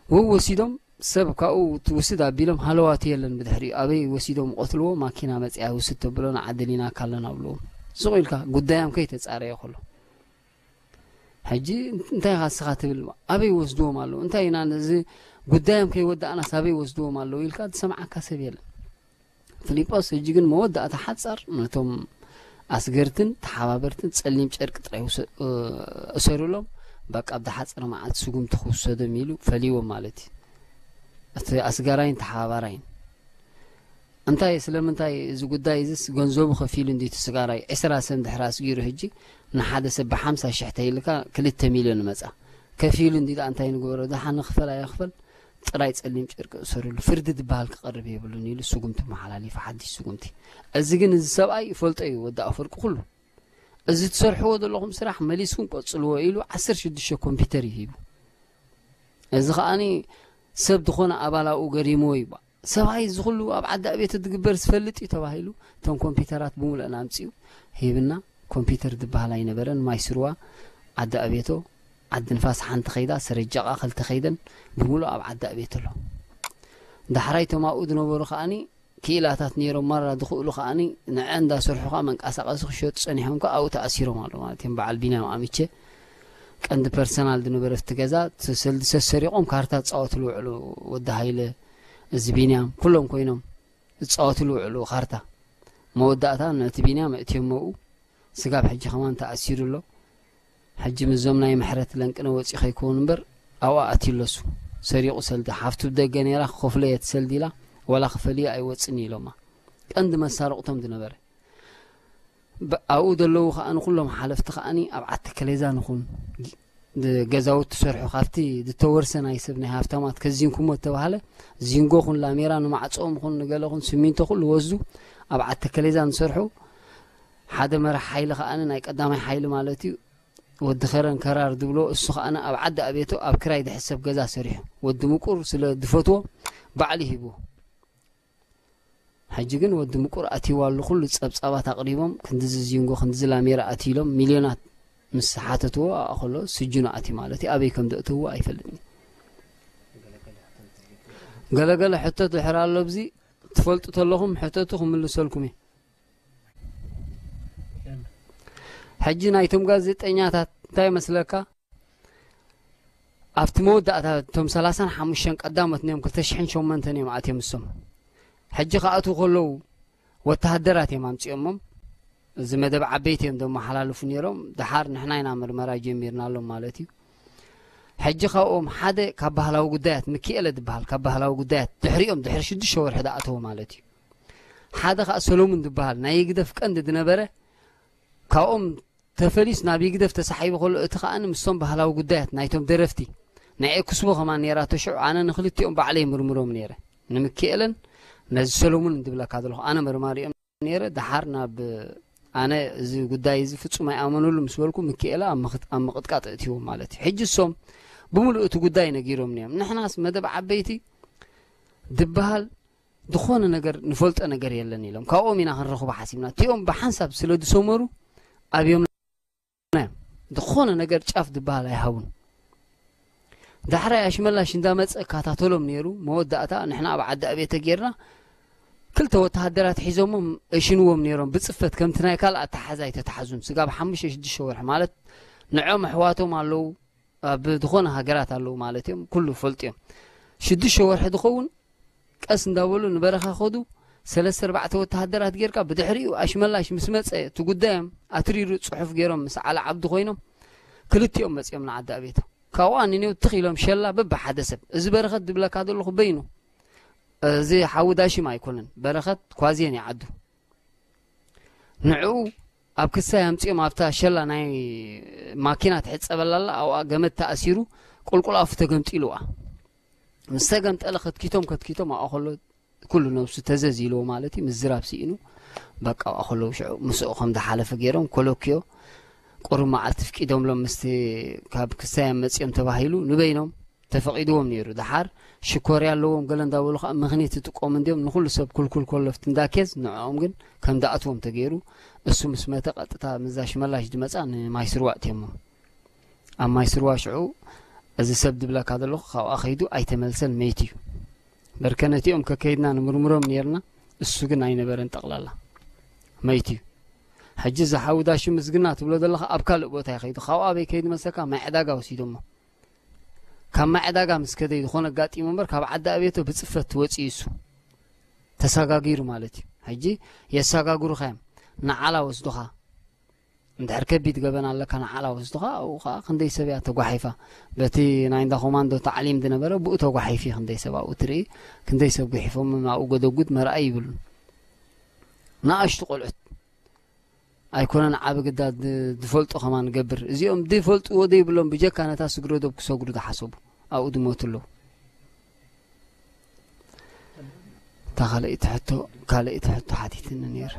ወው ወሲዶም ሰብ ካብኡ ትውስድ ኣቢሎም ሃለዋቱ የለን ብድሕሪኡ ኣበይ ወሲዶም ቆትልዎ ማኪና መጽያ ውስድ ተብሎ ንዓዲ ሊናካ ኣለና ኣብልዎም። ስቕ ኢልካ ጉዳዮም ከይተጻረየ ከሎ። ሕጂ እንታይ ኢኻ ንስኻ ትብል? ኣበይ ወስድዎም ኣለዉ? እንታይ ኢና ነዚ ጉዳዮም ከይወዳእናስ ኣበይ ወስድዎም ኣለዉ ኢልካ ዝሰምዓካ ሰብ የለን። ፊሊጶስ ሕጂ ግን መወዳእታ ሓጻር ነቶም ኣስገርትን ተሓባበርትን ጸሊም ጨርቂ ጥራይ ውሰ-፣ እ-፣ እሰሩሎም፣ በቃ ኣብ ዝሓጸረ መዓልቲ ስጉምቲ ክውሰዶም ኢሉ ፈሊዎም ማለት እዩ። እቲ ኣስጋራይን ተሓባባራይን። እንታይ፣ ስለምንታይ እዚ ጉዳይ እዚስ ገንዘቡ ከፊሉ እንዲ እቲ ስጋራይ ዕስራ ሰብ እንድሕር ኣስጊሩ ሕጂ ንሓደ ሰብ ብሓምሳ ሽሕ ተይልካ ክልተ ሚልዮን መጻ። ከፊሉ እንዲ ደኣ እንታይ ንግበሮ? ደሓን ንክፈል ኣይክፈል ጥራይ ጸሊም ጨርቂ እሰሩሉ። ፍርዲ ዝበሃል ክቐርብ የብሉን ኢሉ ስጉምቲ መሓላሊፉ፣ ሓድሽ ስጉምቲ። እዚ ግን እዚ ሰብኣይ ይፈልጦ እዩ፣ ወዲ ኣፈወርቂ ኩሉ። እዚ ትሰርሕዎ ዘለኹም ስራሕ መሊስኩም ቀጽልዎ ኢሉ ዓሰርተ ሽዱሽተ ኮምፒውተር እዩ ሂቡ። እዚ ከኣኒ ሰብ ዝኾነ ኣባል ኣብኡ ገሪምዎ እዩ። ሰብኣይ እዚ ኩሉ ኣብ ዓዲ ኣቤቶ ዝግበር ዝፈልጥ እዩ ተባሂሉ፣ እቶም ኮምፒውተራት ብምሉአን ኣምጺኡ ሂብና። ኮምፒውተር ዝበሃል ኣይነበረን። ማይ ስርዋ፣ ዓዲ ኣቤቶ፣ ዓዲ ንፋስ ሓንቲ ከይዳ፣ ሰረጃቓ ክልተ ከይደን ብምሉእ ኣብ ዓዲ ኣቤቶ ኣሎ። ዳሕራይ እቶም ኣብኡ ዝነበሩ ከኣኒ ክኢላታት ነይሮም፣ ማራ ዝኽእሉ ከኣኒ ንዐ እንዳሰርሑ ከኣ መንቀሳቐሲ ክሸጡ ጸኒሖም ከኣ ኣብኡ ተኣሲሮም ኣለዉ ማለት እዮም። በዓል ቢንያም ኣምቼ ቀንዲ ፐርሰናል ዝነበረ ኣብቲ ገዛ፣ ሰልዲ ሰሰሪቖም ካርታ ዝጻወትሉ ውዕሉ፣ ወዲ ሃይለ፣ እዚ ቢንያም፣ ኩሎም ኮይኖም ዝጻወትሉ ውዕሉ ካርታ። መወዳእታ ነቲ ቢንያም ኣእትዮሞ ኣብኡ። ስጋብ ሕጂ ከማን ተኣሲሩ ኣሎ። ሕጂ ምስዞም ናይ ምሕረት ለንቅነ ወጺኡ ከይከውን እምበር ኣብኣ ኣትዩ ኣሎ እሱ። ሰሪቑ ሰልዲ፣ ሓፍቱ ብደገ ነይራ፣ ክኸፍሎ እየ እቲ ሰልዲ ኢላ፣ ዋላ ክፈልዮ ኣይወጽእን ኢሎማ። ቀንዲ መሳርቕቶም ዝነበረ። ብ-፣ ኣብኡ ዘለዉ ከኣ ንኹሎም ሓለፍቲ ከኣኒ ኣብ ዓዲ ከሌዛ ንኹን፣ ግ-፣ ድ-፣ ገዛውቲ ትሰርሑ፣ ካብቲ ዝተወርሰ ናይ ሰብ ናይ ሃብታማት ከዚንኩሞ እተባህለ፣ ዚንጎ ኹን ላሜራ ንማዕጾኦም ኹን ንገለ ኹን ስሚንቶ ኩሉ ወስዱ ኣብ ዓዲ ከሌዛ ንሰርሑ። ሓደ መራሕ ሓይሊ ከኣኒ ናይ ቀዳማይ ሓይሊ ማለት እዩ፣ ወዲ ከረን ከራር ዝብሎ፣ እሱ ከኣኒ ኣብ ዓዲ ኣቤቶ ኣብ ክራይ ዝሕሰብ ገዛ ሰሪሑ፣ ወዲ ምቁር ስለ ዝፈትዎ ባዕሉ ሂብዎ። ሕጂ ግን ወዲ ምቁር ኣትይዋ ኣሎ፣ ኩሉ ጸብጻባት ኣቕሪቦም፣ ክንድዚ ዚንጎ፣ ክንድዚ ላሜራ ኣትዩ ኢሎም ሚልዮናት ምስ ሓተትዎ፣ ኣብኣ ከሎ ስጅኑ ኣትዩ ማለት እዩ። ኣበይ ከም ዘእተውዎ ኣይፈልጥን እዩ። ገለገለ ሕቶ ድሕር ኣሎ፣ ኣብዚ ትፈልጡ ተለኹም ሕተቱ ክምልሰልኩም እየ። ሕጂ ናይቶም ጋዜጠኛታት እንታይ መስለካ? ኣብቲ መወዳእታ እቶም ሰላሳን ሓሙሽተን ቀዳሞት ነዮም፣ ክልተ ሽሕን ሸሞንተን እዮም ኣትዮም እሶም። ሕጂ ክኣትዉ ከለዉ ወተሃደራት እዮም ኣምጺኦሞም። እዚ መደብ ዓበይቲ እዮም ዘመሓላልፉ ነይሮም። ደሓር ንሕና ኢና ምርመራ ጀሚርናሎም ማለት እዩ። ሕጂ ካብኦም ሓደ ካብ ባህላዊ ጉዳያት፣ ምኪኤለ ዝበሃል ካብ ባህላዊ ጉዳያት ድሕሪኦም ድሕሪ ሽዱሽተ ወርሒ ዝኣተወ ማለት እዩ። ሓደ ከዓ ሰሎሙን ዝበሃል ናይ ህግደፍ ቀንዲ ዝነበረ፣ ካብኦም ተፈሊስ ናብ ህግደፍ ተሳሒቡ ከሎ፣ እቲ ከኣኒ ምስቶም ባህላዊ ጉዳያት ናይቶም ደረፍቲ ናይ ኤክስቦ ከማን ነይራቶ። ሽዑ ኣነ ንክልቲኦም ባዕለይ ምርምሮም ነይረ፣ ንምኪኤለን ነዚ ሰሎሙን እንድብለካ ዘለኹ ኣነ መርማሪኦም ነይረ። ደሓር ናብ ኣነ እዚ ጉዳይ እዚ ፍጹም ኣይኣመነሉ ምስ በልኩ፣ ምኪኤለ ኣብ ምኽት-፣ ኣብ ምቕጥቃጥ እእትዎ ማለት እዩ። ሕጂ እሶም ብምሉእ እቲ ጉዳይ ነጊሮም እዮም። ንሕናስ መደብ ዓበይቲ ዝበሃል ዝኾነ ነገር ንፈልጦ ነገር የለን ኢሎም፣ ካብኦም ኢና ክንረኽቦ ሓሲብና። እቲኦም ብሓንሳብ ስለ ዝሰመሩ ኣብዮም እዮም። ዝኾነ ነገር ጫፍ ዝበሃል ኣይሃቡን። ዳሕራይ ኣሽመላሽ እንዳመጸ እካታተሎም ነይሩ። መወዳእታ ንሕና ኣብ ዓዲ ኣቤተ ጌርና ክልተ ወተሃደራት ሒዞሞም እሽንዎም ነይሮም። ብጽፈት ከምቲ ናይ ካልእ ኣተሓሕዛ ኣይተተሓዙን። ስጋብ ሓሙሽተ ሽዱሽተ ወርሒ ማለት ንዖም ኣሕዋቶም ኣለዉ፣ ኣብ ዝኾነ ሃገራት ኣለዉ ማለት እዮም። ኩሉ ፈልጡ እዮም። ሽዱሽተ ወርሒ ዝኸውን ቀስ እንዳበሉ ንበረኻ ከዱ። ሰለስተ ኣርባዕተ ወተሃደራት ጌርካ ብድሕሪኡ ኣሽመላሽ ምስ መጸ እቲ ጉዳዮም ኣትሪሩ ጽሑፍ ጌሮም ምስ ዓሊ ዓብዱ ኮይኖም ክልቲኦም መጺኦም ንዓዲ ኣቤቶ። ካብኡ ኣንኔው ትኽ ኢሎም ሸላ በብሓደ ሰብ። እዚ በረኸት ድብለካ ዘለኹ በይኑ፣ እዚ ሓዊ ዳሽም ኣይኮነን፣ በረኸት ኳዝየን ይዓዱ። ንዕኡ ኣብ ክሳይ ኣምጺኦም ኣብታ ሸላ ናይ ማኪና ትሕጸበላ ኣላ፣ ኣብኣ ገመድ ተኣሲሩ ቁልቁል ኣፉ ተገምጢሉዋ። ምስ ተገምጠለ ከትኪቶም ከትኪቶም ኣብኣ ከሎ ኩሉ ነብሱ ተዘዝ ኢልዎ ማለት እዩ። ምዝራብ ስኢኑ በቃ ኣብኣ ከለዉ ሽዑ ምስኡ ከም ዝሓለፈ ገይሮም ኮለክዮ ቁሩብ መዓልቲ ፍቂዶምሎም ምስቲ ካብ ክሳይ ኣመጺኦም ተባሂሉ ንበይኖም ተፈቒድዎም ነይሩ። ደሓር ሽኮርያ ኣለዎም ገለ እንዳበሉ ከዓ ምኽኒት ይጥቀሙ እንድዮም። ንኹሉ ሰብ ኩልኩል ኮለፍቲ እንዳኬዝ ንዕኦም ግን ከም ዝኣትዎም ተገይሩ። እሱ ምስ መተ ቀጥታ ምዛ ሽመላሽ ዝመጻ ንማይ ስርዋ እትዮሞ። ኣብ ማይ ስርዋ ሽዑ እዚ ሰብ ድብለካ ዘለኹ ካብኣ ከይዱ ኣይተመልሰን፣ መይት እዩ። በርከ ነቲኦም ከከይድና ንምርምሮም ነይርና፣ እሱ ግን ኣይነበረን፣ ጠቕላላ መይት እዩ። ሕጂ እዚ ሓዊ ዳሽም ምስግና ትብሎ ዘለኻ ኣብ ካልእ ቦታ እዩ ከይዱ። ካብኡ ኣበይ ከይዱ መሰካ? ማይ ዕዳጋ ወሲዶሞ። ካብ ማይ ዕዳጋ ምስ ከደ እዩ ዝኾነ ኣጋጢሙ እምበር ካብ ዓዲ ኣቤቶ ብጽፈት ወጺኡ እሱ። ተሳጋጊሩ ማለት እዩ። ሕጂ የሳጋግሩኻ እዮም። ንዓላ ወስዱኻ። እንድሕር ከቢድ ገበን ኣለካ ንዓላ ወስዱኻ፣ ኣብኡ ኸዓ ክንደይ ሰብ እያ ተጓሒፋ። በቲ ናይ እንዳ ኮማንዶ ታዕሊም ዝነበረ ብኡ ተጓሒፊ ክንደይ ሰብ ኣብኡ ትርኢ፣ ክንደይ ሰብ ጉሒፎም ናብኡ ጎደጉድ መርኣይ ይብሉን። ንኣሽቱ ቆልዑት ኣይኮነን ዓቢ ግዳ ድ-፣ ዝፈልጦ ከማን ንገብር። እዚኦም ዝፈልጥዎ ዘይብሎም ብጀካ ነታ ስግረ ዶብ ክሰግሩ ዝሓሰቡ ኣብኡ ዝሞቱ ኣለዉ። እታ ካልኣይቲ ሕቶ፣ ካልኣይቲ ሕቶ ሓቲትኒ ነይሩ።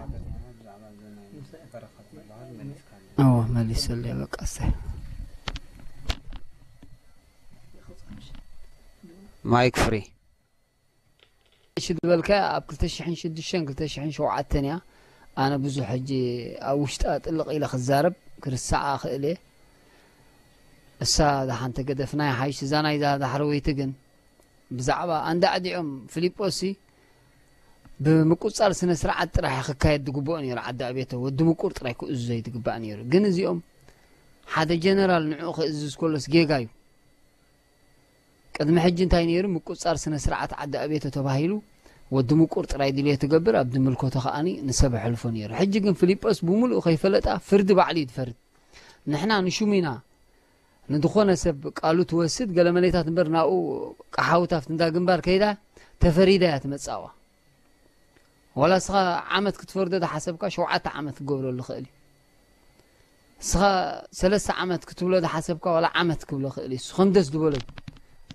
እዎ፣ መሊሰለይ፣ በቃ፣ እሰይ። ማይክ ፍሪ። እሺ፣ ዝበልካያ ኣብ ክልተ ሽሕን ሽዱሽተን ክልተ ሽሕን ሸውዓተን እያ። ኣነ ብዙሕ ሕጂ ኣብ ውሽጣ ጥልቕ ኢለ ክዛረብ፣ ክርስዓ እኽእል እየ። እሳ ደሓን ተገደፍና ይሓይሽ። እዛ ናይዛ ዳሕረወይቲ ግን ብዛዕባ ኣንዳዕዲዖም ፊልጶስሲ ብምቁጻር ስነ ስርዓት ጥራሕ ክካየድ ዝግብኦ ነይሩ። ዓዲ ኣቤቶ ወዲ ምቁር ጥራይ ክእዝዞ እዩ ዝግባእ ነይሩ። ግን እዚኦም ሓደ ጀነራል ንዕኡ ክእዝዝ ከሎስ ጌጋ እዩ። ቅድሚ ሕጂ እንታይ ነይሩ? ምቁጻር ስነ ስርዓት ዓዲ ኣቤቶ ተባሂሉ ወዲ ምቁር ጥራይ ድልዮ ትገብር፣ ኣብ ዝምልከቶ ከኣኒ ንሰብ ኣሕልፎ ነይሩ። ሕጂ ግን ፊልጶስ ብምሉኡ ከይፈለጣ ፍርዲ ባዕሉ እዩ ዝፈርድ። ንሕና ንሹም ኢና ንድኾነ ሰብ ቃሉ ትወስድ ገለ መሌታት እምበር ናብኡ ቀሓውት ኣብቲ እንዳ ግንባር ከይዳ ተፈሪዳ እያ ትመጽኣዋ። ዋላ እስኻ ዓመት ክትፈርዶ ዝሓሰብካ ሸውዓተ ዓመት ክገብረሉ ይኽእል እዩ። እስኻ ሰለስተ ዓመት ክትብሎ ዝሓሰብካ ዋላ ዓመት ክብሎ ይኽእል እዩ። እሱ ከም ደስ ዝበሎ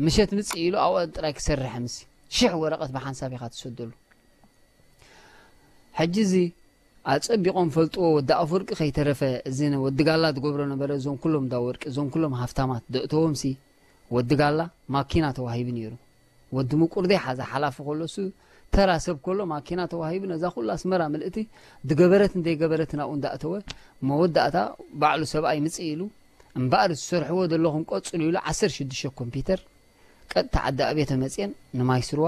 ምሸት ምጽእ ኢሉ ኣብኡ ጥራይ ክሰርሕ ምስ ሽሕ ወረቐት ብሓንሳብ ኢኻ ትሰደሉ። ሕጂ እዚ ኣጸቢቖም ፈልጥዎ ወዲ ኣፍወርቂ ከይተረፈ እዚ ነ-፣ ወዲ ጋላ ዝገብሮ ነበረ። እዞም ኩሎም እንዳ ወርቂ፣ እዞም ኩሎም ሃፍታማት ዘእተዎም ሲ ወዲ ጋላ ማኪና ተዋሂቡ ነይሩ። ወዲ ምቁር ዘይሓዘ ሓላፊ ከሎ እሱ ተራ ሰብ ከሎ ማኪና ተዋሂቡ ነዛ ኩላ ኣስመራ ምልእቲ ዝገበረትን ዘይገበረትን ኣብኡ እንዳእተወ መወዳእታ ባዕሉ ሰብኣይ ምጽእ ኢሉ እምበኣር ዝሰርሕዎ ዘለኹም ቀጽሉ ኢሉ ዓሰርተ ሽዱሽተ ኮምፒውተር ቀጥታ ዓዲ ኣቤተ መጽየን ንማይ ስርዋ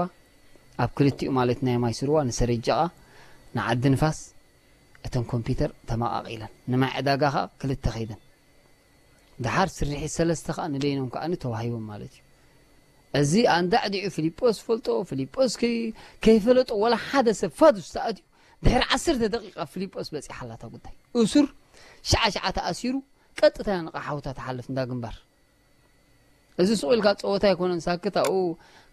ኣብ ክልቲኡ ማለት ናይ ማይ ስርዋ ንሰረጃቓ ንዓዲ ንፋስ እተን ኮምፒውተር ተመቓቒለን ንማይ ዕዳጋ ኸኣ ክልተ ኸይደን ድሓር ስርሒት ሰለስተ ኸኣ ንበይኖም ከኣ ተዋሂቦም ማለት እዩ። እዚ ኣንዳዕዲዑ ፊልጶስ ፈልጦ፣ ፊልጶስ ከይ-፣ ከይፈለጦ ወላ ሓደ ሰብ ፋዱስ ተኣትዩ ድሕሪ ዓሰርተ ደቂቃ ፊልጶስ በጺሓላ እታ ጉዳይ። እሱር ሸዓ ሸዓ ተኣሲሩ ቀጥታ እያ ንቐሓውታ ትሓልፍ እንዳ ግንባር። እዚ ስቕ ኢልካ ጸወታ ኣይኮነን። ሳክት ኣብኡ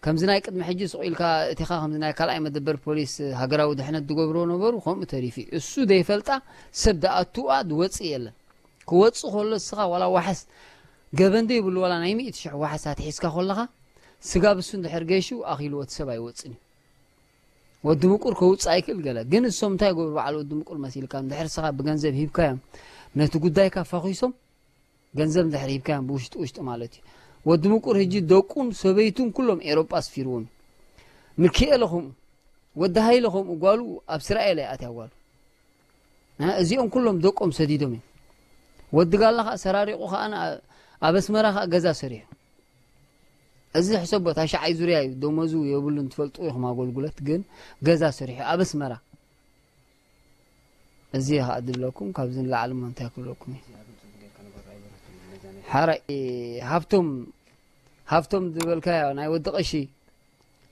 ከምዚ ናይ ቅድሚ ሕጂ ስቕ ኢልካ እቲኻ ከምዚ ናይ ካልኣይ መደበር ፖሊስ ሃገራዊ ድሕነት ዝገብርዎ ነበሩ፣ ከምኡ ተሪፉ እዩ። እሱ ዘይፈልጣ ሰብ ዝኣትዋ ዝወጽእ የለን። ክወጽእ ከሎ እስኻ ዋላ ዋሕስ ገበን ዘይብሉ ዋላ ናይ ሚእቲ ሽሕ ዋሕስ ኣትሒዝካ ከለኻ ስጋብ እሱ እንድሕር ገይሹ ኣኺልዎ እቲ ሰብ ኣይወጽን እዩ። ወዲ ምቁር ከውፅእ ኣይክእል ገለ። ግን እሶም እንታይ ይገብሩ በዓል ወዲ ምቁር መሲልካ? እንድሕር እስኻ ብገንዘብ ሂብካዮም ነቲ ጉዳይካ ፈኺሶም ገንዘብ እንድሕር ሂብካዮም ብውሽጢ ውሽጢ ማለት እዩ። ወዲ ምቁር ህጂ ደቁን ሰበይቱን ኩሎም ኤሮጳ ኣስፊርዎም እዩ። ምኪኤለ ከምኡ፣ ወዲ ሃይለ ከምኡ፣ ጓሉ ኣብ እስራኤል እያ ኣትያ ጓሉ። እ፣ እዚኦም ኩሎም ደቆም ሰዲዶም እዮም። ወዲ ጋላ ከዓ ሰራሪቑ ከዓ ን-፣ ኣብ ኣስመራ ከዓ ገዛ ሰሪሑ። እዚ ሕሰቦ፣ ታሽዓይ ዙርያ እዩ፣ ደሞዙ የብሉን፣ ትፈልጡ ኢኹም ኣገልግሎት፣ ግን ገዛ ሰሪሑ ኣብ ኣስመራ። እዚ ከዓ ድብለኩም፣ ካብዚ ንላዕሊ እሞ እንታይ ክብለኩም እዩ? ሓራይ፣ ሃብቶም፣ ሃብቶም ዝበልካዮ ናይ ወዲ ቀሺ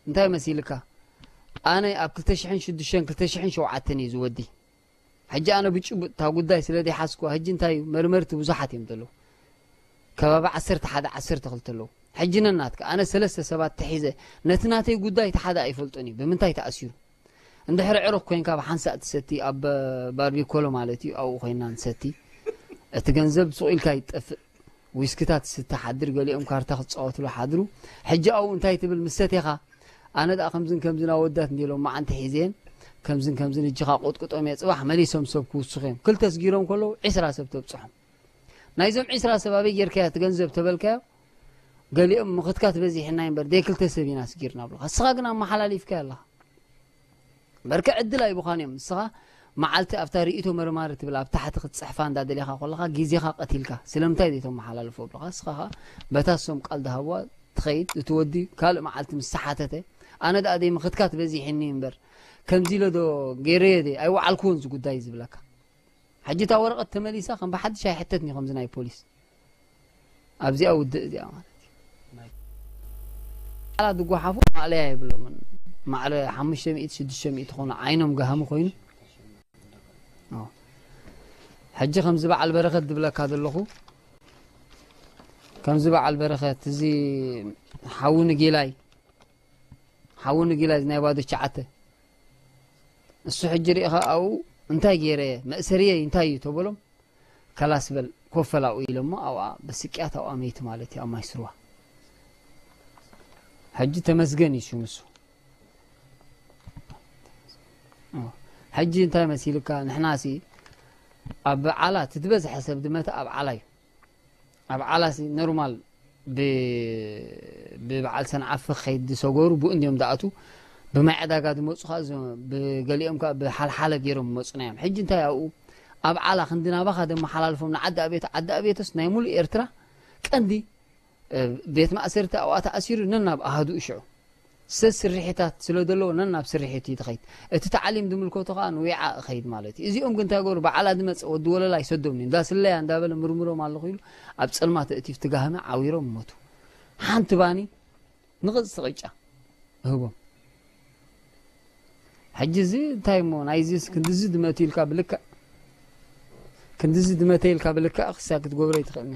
እንታይ መሲልካ? ኣነ ኣብ ክልተ ሽሕን ሽዱሽተን ክልተ ሽሕን ሸውዓተን እዩ ዝወዲ። ሕጂ ኣነ ብጭቡጥ እታ ጉዳይ ስለ ዘይሓዝኩዋ፣ ሕጂ እንታይ እዩ፣ መርመርቲ ብዙሓት እዮም ዘለዉ። ከባቢ ዓሰርተ ሓደ ዓሰርተ ክልተ ኣለዉ። ሕጂ ነናትካ፣ ኣነ ሰለስተ ሰባት ተሒዘ፣ ነቲ ናተይ ጉዳይ እቲ ሓደ ኣይፈልጦን እዩ፣ ብምንታይ ተኣሲሩ። እንድሕሪ ዕሩኽ ኮይንካ ብሓንሳእ ትሰቲ፣ ኣብ ባርቢኮሎ ማለት እዩ፣ ኣብኡ ኮይና ንሰቲ። እቲ ገንዘብ ሱቕ ኢልካ ይጠፍእ። ዊስክታት ትስተ ሓድር፣ ገሊኦም ካርታ ክጻወትሉ ሓድሩ። ሕጂ ኣብኡ እንታይ ትብል ምስ ሰቴኻ? ኣነ ደኣ ከምዝን ከምዝን ኣወዳት እንዲሎም መዓንቲ ሒዘን፣ ከምዝን ከምዝን እጅኻ ቆጥቁጦም እየ፣ ጽባሕ መሊሶም ሰብ ክውስኹ እዮም። ክልተ ስጊሮም ከለዉ ዒስራ ሰብ ተብጽሖም። ናይዞም ዒስራ ሰብ ኣበይ ጌርካዮ እቲ ገንዘብ ተበልካዮ፣ ገሊኦም ምኽትካት በዚሕና እምበር ደይ ክልተ ሰብ ኢና ስጊርና ብሉኻ። ንስኻ ግን ኣመሓላሊፍካዮ ኣለኻ። በርከ ዕድል ኣይቡኻን እዮም። ንስኻ መዓልቲ ኣብታ ርእይቶ መርማሪ ትብል ኣብ ታሕቲ ክትጽሕፋ እንዳደሊኻ ከለኻ ግዜኻ ቀቲልካ ስለምንታይ ዘይተመሓላልፎ ብሉኻ። ንስኻ ኸኣ በታ እሶም ቃል ዝሃብዋ ትኸይድ። እቲ ወዲ ካልእ መዓልቲ ምስ ተሓተተ ኣነ ደኣ ደይ ምኽትካት በዚሕኒ እምበር ከምዚ ኢለ ዶ ገይረዮ ደይ ኣይወዓልክዎን እዚ ጉዳይ ዝብለካ። ሕጂ እታ ወረቐት ተመሊሳ ከም ብሓድሽ ኣይሕተትን እዩ ከምዚ ናይ ፖሊስ። ኣብዚኣ ውድእ እዚኣ ማለት እዩ። ቃላት ዝጓሓፉ ማእለያ የብሎምን። ማዕረ ሓሙሽተ ሚእቲ ሽዱሽተ ሚእቲ ኮይኑ ዓይኖም ገሃሚ ኮይኑ። ኦ። ሕጂ ከምዚ በዓል በረኸት ዝብለካ ዘለኹ፣ ከምዚ በዓል በረኸት፣ እዚ ሓዊ ንጌላይ፣ ሓዊ ንጌላይ፣ እዚ ናይ ባዶ ሸዓተ፣ እሱ ሕጂ ርኢኻ ኣብኡ እንታይ ገይረ፣ መእሰርየይ እንታይ እዩ ተበሎም፣ ከላስ በል፣ ኮፍ በል ኣብኡ ኢሎሞ፣ ኣብኣ በስቅያት ኣብኣ መይቱ ማለት እዩ፣ ኣብ ማይ ስርዋ። ሕጂ ተመስገን እዩ ሽሙ እሱ። ኦ፣ ሕጂ እንታይ መሲልካ? ንሕናሲ ኣብ ዓላ እቲ ዝበዝሐ ሰብ ዝመተ ኣብ ዓላ እዩ። ኣብ ዓላሲ ኖርማል ብ-፣ ብበዓል ሰንዓፈ ክኸይድ ዝሰገሩ ብኡ እንዲዮም ዝኣትዉ። ብማይ ዕዳጋ ዝመፁ ከዓ እዞም ብገሊኦም ከዓ ብሓልሓለ ገይሮም ዝመፁና እዮም። ሕጂ እንታይ ኣብኡ ኣብ ዓላ ክንዲ ናባኻ ዘመሓላልፎም ንዓዲ ኣቤት፣ ዓዲ ኣቤትስ ናይ ሙሉእ ኤርትራ ቀንዲ፣ እ፣ ቤት ማእሰርቲ ኣብኣ ተኣሲሩ ነናብ ኣሃዱኡ ሽዑ። ሰስርሒታት ስለ ዘለዎ ነናብ ስርሒት እዩ ትኸይድ። እቲ ታዕሊም ዝምልከቶ ከኣ ንዊዓ እኸይድ ማለት እዩ። እዚኦም ግን እንታይ ገበሩ? በዓላ ዝመጸ ወዲ ወለላ ይሰዶም እዩ። እንዳ ስለያ እንዳበለ ምርምሮም ኣለኹ ኢሉ ኣብ ጸልማት ኣእትዩ ትጋህመ ዓዊሮም ሞቱ። ሓንቲ ባኒ ንቕጽ ቅጫ እህቦም። ሕጂ እዚ እንታይ እሞ ናይዚስ ክንድዚ ድመት ኢልካ ብልክዕ፣ ክንድዚ ድመተ ኢልካ ብልክዕ ክሳ ክትገብሮ ይትኽእልና።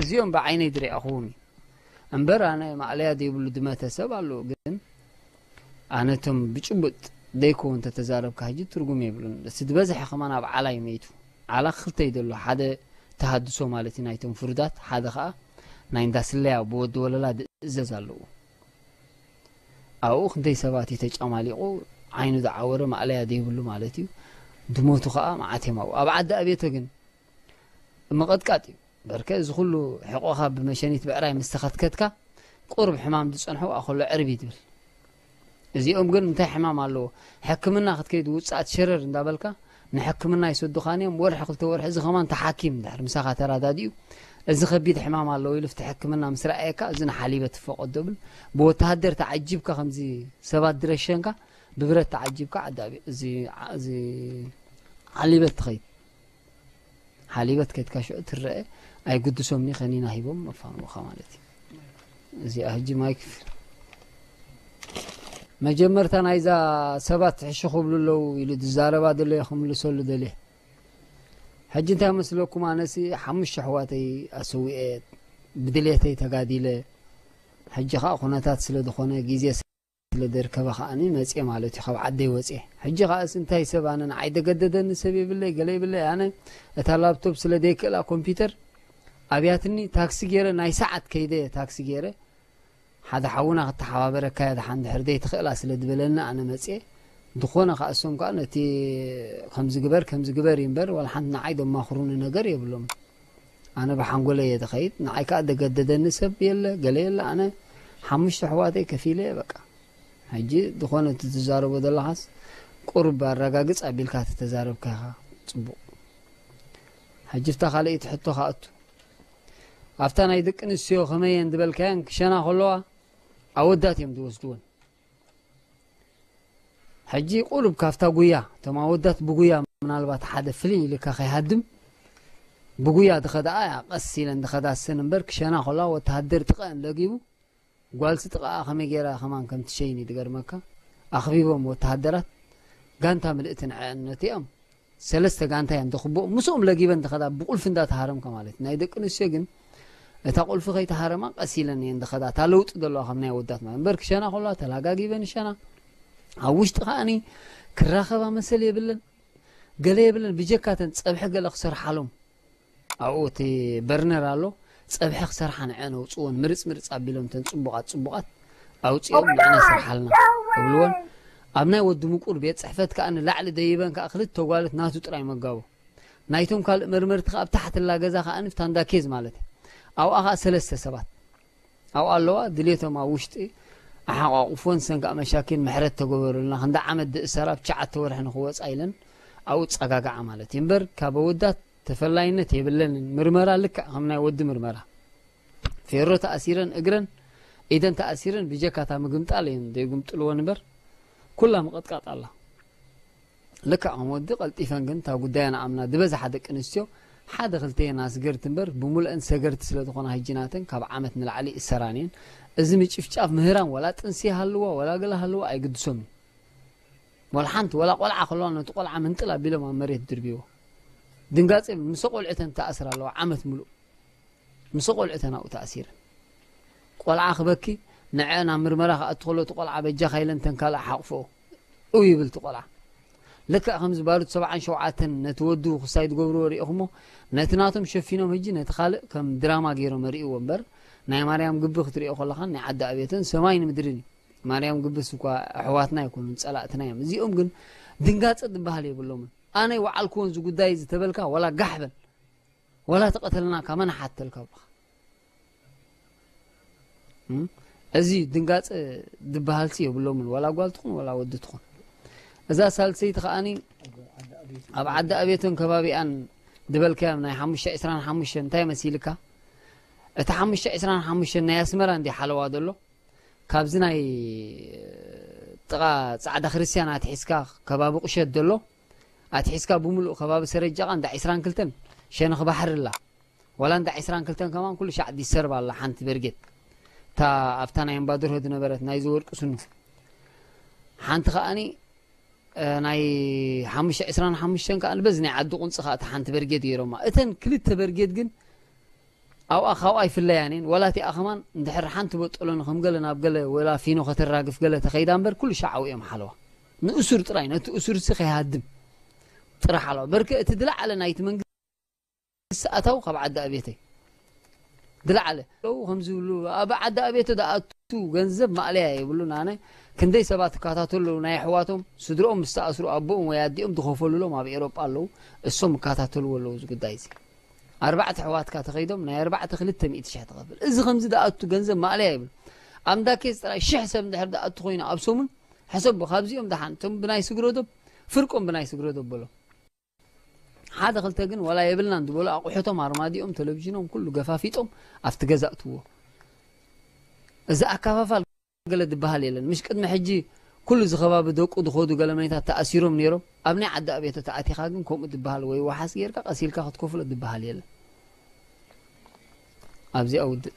እዚኦም ብዓይነይ ዝረኣኹዎም እዩ። እምበር ኣነ ማእለያ ዘይብሉ ድመተ ሰብ ኣሎ፣ ግን ኣነ እቶም ብጭቡጥ ደይኮ እንተተዛረብካ ሕጂ ትርጉም የብሉን። እቲ ዝበዝሐ ከማን ኣብ ዓላ እዩ መይቱ። ዓላ ክልተ እዩ ዘሎ፣ ሓደ ተሃድሶ ማለት እዩ ናይቶም ፍሩዳት፣ ሓደ ኸኣ ናይ እንዳ ስለያ ብወዲ ወለላ ዝእዘዝ ኣለዉ። ኣብኡ ክንደይ ሰባት እዩ ተጫማሊቑ፣ ዓይኑ ዝዓወረ ማእለያ ዘይብሉ ማለት እዩ። ድሞቱ ኸኣ መዓት እዮም ኣብኡ። ኣብ ዓዲ ኣቤቶ ግን ምቕጥቃጥ እዩ። በርከ እዚ ኩሉ ሕቖኻ ብመሸኒት ብዕራይ ምስ ተኸትከትካ፣ ቁሩብ ሕማም ዝጸንሖ ኣኸሎ ዕርቢ ትብል። እዚኦም ግን እንታይ ሕማም ኣለዎ? ሕክምና ክትከይድ ውጽኣት ሸረር እንዳበልካ ንሕክምና ይሰዱኻን እዮም። ወርሒ ክልተ ወርሒ እዚ ከማን ተሓኪም እንድሕር ምሳኻ ተራዳዲኡ፣ እዚ ከቢድ ሕማም ኣለዎ ኢሉ ፍቲ ሕክምና ምስ ረኣየካ፣ እዚ ንሓሊበት ትፈቐዶ ብል። ብወተሃደር ተዓጂብካ ከምዚ ሰባት ዝረሸንካ፣ ብብረት ተዓጂብካ ዓዲ ኣቤ-፣ እዚ ዓ-፣ እዚ ሓሊበት ትኸይድ። ሓሊበት ከድካ ሽዑ ትረአ፣ ኣይግድሶምኒ ከኒና ሂቦም መፋንዎኻ ማለት እዩ። እዚኣ ሕጂ ማይክ መጀመርታ ናይዛ ሰባት ሕሹ ክብሉ ኣለዉ ኢሉ ዝዛረባ ዘሎ እየ ክምልሰሉ ደልየ። ሕጂ እንታይ መስለኩም? ኣነሲ ሓሙሽተ ኣሕዋተይ ኣሰዊኤ፣ ብድሌተይ ተጋዲለ። ሕጂ ኸኣ ኩነታት ስለ ዝኾነ፣ ግዜ ስለ ደርከበ ኸኣኒ መጽየ ማለት እዩ፣ ካብ ዓደይ ወጽየ። ሕጂ ኸኣስ እንታይ ሰብ፣ ኣነ ንዓይ ደገደደኒ ሰብ የብለይ፣ ገለ የብለይ። ኣነ እታ ላፕቶፕ ስለ ደይክእላ ኮምፒውተር ኣብያትኒ፣ ታክሲ ገይረ፣ ናይ ሰዓት ከይደ ታክሲ ገይረ፣ ሓደ ሓውና ክተሓባበረካ እየ፣ ደሓን ድሕር ደይ ትኽእላ ስለ ዝበለኒ ኣነ መጽየ። ዝኾነ ከኣ እሶም ከኣ ነቲ ከምዚ ግበር፣ ከምዚ ግበር እዩ እምበር፣ ዋላ ሓንቲ ንዓይ ደማኽሩኒ ነገር የብሎም። ኣነ ብሓንጎለይ እየ ዝኸይድ። ንዓይ ከኣ ደገደደኒ ሰብ የለ፣ ገለ የለ። ኣነ ሓሙሽተ ኣሕዋተይ ከፊለ እየ በቃ። ሕጂ ዝኾነ እቲ ትዛረቦ ዘለኻስ ቁሩብ ኣረጋግጽ ኣቢልካ ተተዛረብካ ኢኻ ጽቡቕ። ሕጂ ፍታ ካልኣይቲ ሕቶ ከኣ እቱ። ኣብታ ናይ ደቂ ኣንስትዮ ከመይ እየን ዝበልካየን ክሸና ከለዋ ኣወዳት እዮም ዝወስድወን። ሕጂ ቁሩብ ካብታ ጉያ፣ እቶም ኣወዳት ብጉያ ምናልባት ሓደ ፍልይ ኢልካ ከይሃድም፣ ብጉያ ዝኸዳኣ እያ፣ ቀስ ኢለን ዝኸዳ ሰን እምበር፣ ክሸና ከለዋ ወተሃደር ጥቐአን ለጊቡ፣ ጓልሲ ጥቐኣ ከመይ ገይራ ከማን ከም ትሸይን እዩ ዝገርመካ። ኣኽቢቦም ወተሃደራት፣ ጋንታ ምልእቲ ንዐአን ነቲኦም፣ ሰለስተ ጋንታ እየን ተኽብኦም፣ ምስኦም ለጊበን ዝኸዳ ብቁልፊ እንዳተሃረምካ ማለት እዩ። ናይ ደቂ ኣንስትዮ ግን እታ ቁልፊ ከይተሃረማ ቀስ ኢለን እየን ዝኸዳ፣ እታ ለውጢ ዘለዋ ካብ ናይ ኣወዳት ማለት። እምበር ክሸና ከለዋ ተላጋጊበን ይሸና። ኣብ ውሽጢ ከኣኒ ክራኸባ መሰል የብለን፣ ገለ የብለን። ብጀካተን ጸብሒ ገለ ክሰርሓሎም፣ ኣብኡ እቲ በርነር ኣሎ፣ ጸብሒ ክሰርሓ ንዐን ኣውጽእወን፣ ምርጽ ምርጽ ኣቢሎም፣ እተን ጽቡቓት ጽቡቓት ኣውጺኦም ንዐን ይሰርሓልና እብልወን። ኣብ ናይ ወዲ ምቁር ቤት ጽሕፈት ከኣ ንላዕሊ ደይበን ከኣ ክልተ ጓልት ናቱ ጥራይ መጋቦ። ናይቶም ካልእ መርመርቲ ከኣ ኣብ ታሕቲ ላ ገዛ ከኣ ንፍታንዳ ኬዝ ማለት እዩ። ኣብኣ ከኣ ሰለስተ ሰባት። ኣብኡ ኣለዋ፣ ድሌቶም ኣብ ውሽጢ ኣሓቋቑፎን ሰን ከኣ መሻኪን ምሕረት ተገበሩልና፣ ክንዲ ዓመት ድእሰራ ኣብ ትሽዓተ ወርሒ ንኽወጻ ኢለን ኣብኡ ጸጋግዓ ማለት እዩ። እምበር ካብ ኣወዳት ተፈላይነት የብለንን። ምርመራ ልክዕ ከም ናይ ወዲ ምርመራ። ፌሮ ተኣሲረን እግረን ኢደን ተኣሲረን ብጀካታ ምግምጣል እየን ዘይጉምጥልወን እምበር ኩላ ምቕጥቃጥ ኣላ። ልክዕ ከም ወዲ ቀልጢፈን ግን እታ ጉዳየን ኣምና ዝበዝሓ ደቂ ኣንስትዮ ሓደ ክልተ እየን ኣስገርቲ እምበር ብሙሉአን ሰገርቲ ስለ ዝኾና ህጂ ናተን ካብ ዓመት ንላዕሊ ይእሰራን እየን። እዚ ምጭፍጫፍ ምህራም ወላ ጥንሲ ይሃልዋ ወላ ገለ ሃልዋ ኣይግድሶምን። ወላ ሓንቲ ወላ ቆልዓ ከለዋ ነቲ ቆልዓ ምንጥል ኣቢሎም ኣብ መሬት ድርብይዎ። ድንጋጸ ምስ ቆልዑተን ተኣስራ ኣለዋ ዓመት ሙሉእ። ምስ ቆልዑተን ኣብኡ ተኣሲረን። ቆልዓ ክበኪ ንዐ ናብ ምርመራ ክኣቱ ከሎ እቲ ቆልዓ በጃኻ ኢለን ተን ካልእ ሓቕፍኦ። እው ይብል እቲ ቆልዓ። ልክዕ ከምዚ ባሩድ ሰብዓን ሸውዓተን ነቲ ወዱ ክሳይ ዝገብርዎ ርኢኹሞ፣ ነቲ ናቶም ሸፊኖም ህጂ ነቲ ካልእ ከም ድራማ ገይሮም ኣርእይዎ እምበር፣ ናይ ማርያም ግቢ ክትርእዮ ከለኻን ናይ ዓዲ ኣቤትን ሰማይን ምድርን እዩ። ማርያም ግብስ እኳ ኣሕዋትና ኣይኮኑን፣ ጸላእትና እዮም። እዚኦም ግን ድንጋጸ ዝበሃል የብሎምን። ኣነ ይወዓልክዎ እዚ ጉዳይ እዚ ተበልካ፣ ዋላ ጋሕ በል። ዋላ ተቐተልናካ፣ መን ሓተልካ ብኻ? እም? እዚ ድንጋጸ ዝበሃልሲ የብሎምን፣ ዋላ ጓል ትኹን፣ ዋላ ወዲ ትኹን። እዛ ሳልሰይቲ ከኣኒ ኣብ ዓዲ ኣቤቶን ከባቢኣን ዝበልካዮም ናይ ሓሙሽተ ዕስራን ሓሙሽተን እንታይ መሲልካ? እቲ ሓሙሽተ ዕስራን ሓሙሽተን ናይ ኣስመራ እንዲ ሓለዋ ዘሎ? ካብዚ ናይ ጥቓ ጻዕዳ ክርስትያን ኣትሒዝካ ከባቢ ቁሸት ዘሎ ኣትሒዝካ ብምሉእ ከባቢ ሰረጃቓ እንዳ ዕስራን ክልተን ሸነኽ ባሕሪ ኣላ። ዋላ እንዳ ዕስራን ክልተን ከማን ኩሉ ሻዕ ዲሰርባ ኣላ ሓንቲ በርጌድ። እታ ኣብታ ናይ ኣምባደርሆ ዝነበረት ናይዚ ወርቂ ስኑ። ሓንቲ ከኣኒ፣ እ፣ ናይ ሓሙሽተ ዕስራን ሓሙሽተን ከኣ በዚ ናይ ዓዲ ቁንጺ ከኣ እታ ሓንቲ በርጌድ ገይሮማ። እተን ክልተ በርጌድ ግን ኣብኣ ካብኣ ይፍለያን እየን። ዋላ እቲኣ ከማን እንድሕር ሓንቲ በጦሎኒ ከም ገለ ናብ ገለ ወላ ፊኖ ከተራግፍ ገለ ተኸይዳ እምበር ኩሉ ሻዕ ኣብኡ እዮም ሓለዋ። ንእሱር ጥራይ፣ ነቲ እሱርሲ ከይሃድም ጥራሕ ሓለዋ። በርከ እቲ ዝለዓለ ናይቲ መንግስቲ ኣታው ካብ ዓዲ ኣቤተይ ዝለዓለ። ከምዚ ዝብሉ ኣብ ዓዲ ኣቤተ ዝኣቱ ገንዘብ ማእለያ የብሉን። ኣነ ክንደይ ሰባት ይከታተሉ ኣለዉ፣ ናይ ኣሕዋቶም ስድርኦም ምስ ተኣስሩ ኣቦኦም ወይ ኣዲኦም ዝኸፈሉሎም ኣብ ኤሮጳ ኣለዉ። እሶም ይከታተልዎ ኣለዉ እዚ ጉዳይ እዚ። ኣርባዕተ ኣሕዋትካ ተኸይዶም ናይ ኣርባዕተ ክልተ ሚእቲ ሽሕ ትኸፍል። እዚ ከምዚ ዝኣቱ ገንዘብ ማእለያ ይብሉ። ኣብ እንዳ ኬዝ ጥራይ ሽሕ ሰብ እንድሕር ዝኣቱ ኮይኑ ኣብ ሰሙን ሕሰቦ፣ ካብዚኦም ደሓን እቶም ብናይ ስግረዶብ ፍርቆም ብናይ ስግረዶብ በሎም። ሓደ ክልተ ግን ወላ የብልናን ዝበሉ ኣቑሑቶም፣ ኣርማዲኦም፣ ቴሌቪዥኖም ኩሉ ገፋፊጦም ኣብቲ ገዛ እትዎ። እዚ ኣካፋፋል ገለ ዝበሃል የለን። ምሽ ቅድሚ ሕጂ ኩሉ እዚ ከባቢ ደቁ ዝኸዱ ገለ መኒታት ተኣሲሮም ነይሮም። ኣብ ናይ ዓዲ ኣቤቶ ተኣቲኻ ግን ከምኡ ዝበሃል ወይ ዋሓስ ጌርካ ቀስ ኢልካ ክትከፍሎ ዝበሃል የለን። ኣብዚኣ ውድእ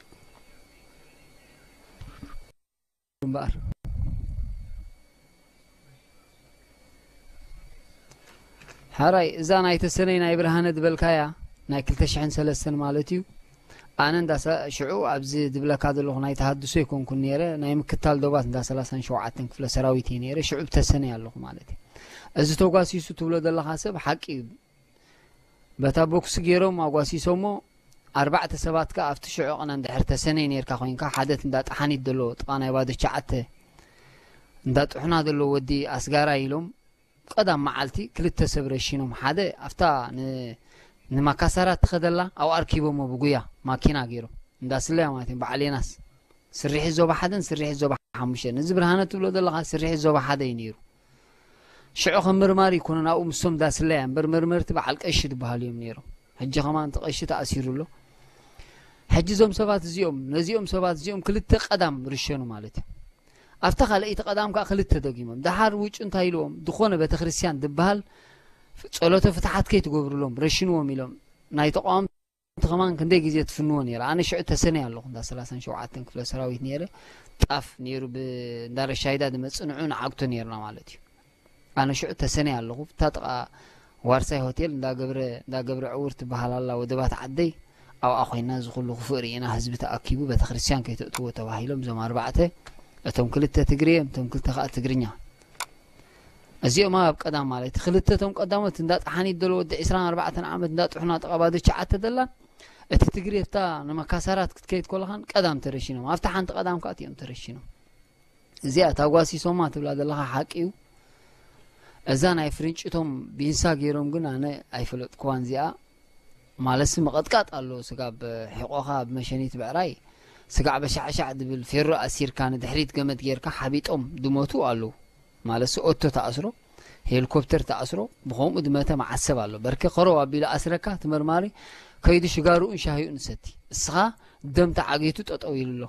እምበኣር። ሓራይ እዛ ናይ ተሰነይ ናይ ብርሃነ ዝበልካያ ናይ ክልተ ሽሕን ሰለስተን ማለት እዩ። ኣነ እንዳ ሰ- ሽዑ ኣብዚ ዝብለካ ዘለኹ ናይ ተሃድሶ ኣይኮንኩን ነይረ፣ ናይ ምክታል ዶባት እንዳ ሰላሳን ሸውዓተን ክፍለ ሰራዊት እየ ነይረ። ሽዑ ብተሰነይ ኣለኹ ማለት እዩ። እዚ ተጓሲሱ ትብሎ ዘለኻ ሰብ ሓቂ እዩ። በታ ቦክሲ ገይሮም ኣጓሲሶሞ ኣርባዕተ ሰባት ከኣ ኣብቲ ሽዑ ቅነ እንድሕር ተሰነይ ነርካ ኮይንካ ሓደት እንዳ ጠሓኒት ዘሎ ጥቓ ናይ ባዶ ሸዓተ እንዳ ጥሑና ዘሎ ወዲ ኣስጋራ ኢሎም ቀዳም መዓልቲ ክልተ ሰብ ረሺኖም። ሓደ ኣብታ ን- ንማካሳራት ትኸደላ ኣብኡ ኣርኪቦሞ ብጉያ ማኪና ገይሮም እንዳ ስለያ ማለት እዮም። በዓል የናስ ስርሒት ዞባ ሓደን ስርሒት ዞባ ሓሙሽተን። እዚ ብርሃነ ትብሎ ዘለኻ ስርሒት ዞባ ሓደ እዩ ነይሩ። ሽዑ ከም መርማሪ ይኮኑ ናብኡ ምስቶም ዳስለያ እምበር መርመርቲ በዓል ቀሺ ዝበሃሉ እዮም ነይሮም። ሕጂ ከማን እቲ ቀሺ ተኣሲሩ ኣሎ። ሕጂ እዞም ሰባት እዚኦም ነዚኦም ሰባት እዚኦም ክልተ ቀዳም ርሸኑ ማለት እዩ። ኣብታ ካልኣይቲ ቀዳም ከዓ ክልተ ደጊሞም። ደሓር ውጩ እንታይ ኢልዎም? ዝኾነ ቤተክርስትያን ዝበሃል ጸሎተ ፍትሓት ከይትገብሩሎም ረሽንዎም ኢሎም ናይ ተቃወምቲ ከማን ክንደይ ግዜ ትፍንዎ ነይረ። ኣነ ሽዑ ተሰነይ ኣለኹ እንዳ ሰላሳን ሸውዓተን ክፍለ ሰራዊት ነይረ። ጣፍ ነይሩ ብ- እንዳ ረሻይዳ ዝመጽእ ንዑ ንዓግቶ ነይርና ማለት እዩ። ኣነ ሽዑ ተሰነይ ኣለኹ። እታ ጥቓ ዋርሳይ ሆቴል እንዳ ገብረ እንዳ ገብረ ዕውር ትበሃል ኣላ ወደባት ዓደይ ኣብኣ ኮይና እዚ ኩሉ ክፉእ ርኢና ህዝቢ ተኣኪቡ ቤተክርስትያን ከይተእትዎ ተባሂሎም እዞም ኣርባዕተ እቶም ክልተ ትግርየ እቶም ክልተ ከዓ ትግርኛ እዚኦም ኣብ ቀዳም ማለት ክልተ እቶም ቀዳሞት እንዳ ጠሓኒት ደሎ ወዲ ዕስራን ኣርባዕተን ዓመት እንዳ ጥሑና ጥቓ ባዶ ሸዓተ ደላ እቲ ትግርየ እታ ንመካሳራት ክትከይድ ኮለኻን ቀዳም ተረሺኖም ኣብታ ሓንቲ ቀዳም ከዓ እቲኦም ተረሺኖም። እዚኣ ታጓሲሶማ ትብላ ዘለኻ ሓቂ እዩ። እዛ ናይ ፍርንጭቶም ቢንሳ ገይሮም ግን ኣነ ኣይፈለጥኩዋን እዚኣ። ማለትሲ ምቕጥቃጥ ኣሎ ስጋብ ሕቆኻ ብመሸኒት ብዕራይ ስጋዕ በሻዕሻዕ ድብል ፌሮ ኣሲርካ ንድሕሪት ገመድ ጌርካ ሓቢጦም ድሞቱ ኣለዉ። ማለትሲ ኦቶ ተኣስሮ ሄሊኮፕተር ተኣስሮ ብኸምኡ ድመተ መዓሰብ ኣሎ። በርከ ከረው ኣቢሉ ኣስረካ ትመርማሪ ከይዱ ሽጋርኡን ሻሂኡን ሰቲ እስኻ ደም ተዓጊቱ ጠጠው ኢሉ ኣሎ።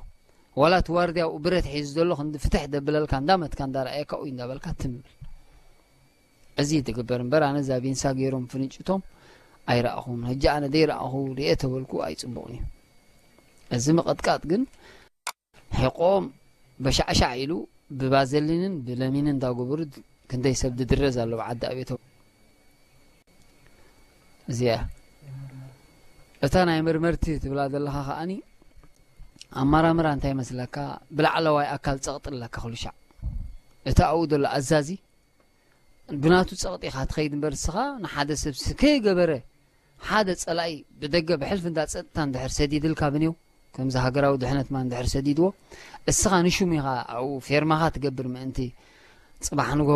ዋላ እቲ ዋርድያ ኣብኡ ብረት ሒዙ ዘሎ ክንዲ ፍትሕ ደብለልካ እንዳመትካ እንዳረኣየካ ኡይ እንዳበልካ ትም ብል። እዚ ትግበር እምበር ኣነ እዛ ቢንሳ ገይሮም ፍንጭቶም ኣይረኣኹን። ሕጂ ኣነ ደይረኣኹ ርኤ ተበልኩ ኣይፅቡቕን እዩ። እዚ ምቕጥቃጥ ግን ሕቆም በሻዕሻዕ ኢሉ ብባዘሊንን ብለሚንን እንዳገበሩ ክንደይ ሰብ ድድረዝ ኣሎ ብዓዲ ኣቤቶ። እዚኣ እታ ናይ መርመርቲ ትብላ ዘለኻ ከኣኒ ኣማራምራ እንታይ መስለካ? ብላዕለዋይ ኣካል ጸቕጢ ኣለካ ኩሉ ሻዕ። እቲ ኣብኡ ዘሎ ኣዛዚ ብናቱ ጸቕጢ ኢኻ ትኸይድ እምበር እስኻ ንሓደ ሰብ ከይገበረ ሓደ ጸላኢ ብደገ ብሕልፊ እንዳ ጸጥታ እንድሕር ሰዲድልካ ብኔው ከምዚ ሃገራዊ ድሕነት ማ እንድሕር ሰዲድዎ እስኻ ንሹም ኢኻ ኣብኡ ፌርማኻ ትገብር ምእንቲ ጽባሕ ንጎ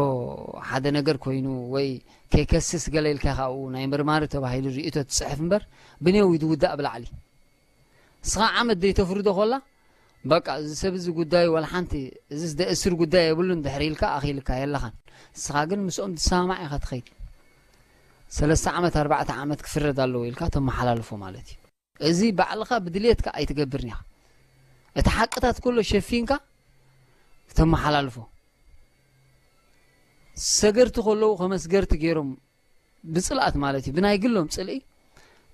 ሓደ ነገር ኮይኑ ወይ ከይከስስ ገለ ኢልካ ኢኻ ኣብኡ ናይ መርማሪ ተባሂሉ ርእይቶ ትጽሕፍ እምበር ብኔው እዩ ዝውዳእ ብላዕሊ። እስኻ ዓመት ዘይተፍርዶ ኮላ በቃ እዚ ሰብ እዚ ጉዳዩ ዋላ ሓንቲ እዚ ደእስር ጉዳይ የብሉን ድሕሪ ኢልካ ኣኺልካ የለኻን። እስኻ ግን ምስኦም ትሰማማዕ ኢኻ ትኸይድ። ሰለስተ ዓመት ኣርባዕተ ዓመት ክፍረድ ኣለዎ ኢልካ ተመሓላልፎ ማለት እዩ። እዚ ባዕልኻ ብድልየትካ ኣይትገብርን ኢኻ። እቲ ሓቅታት ኩሎ ሸፊንካ ተመሓላልፎ። ሰገርቲ ከለዉ ከመስገርቲ ገይሮም ብፅልኣት ማለት እዩ ብናይ ግሎም ፅልኢ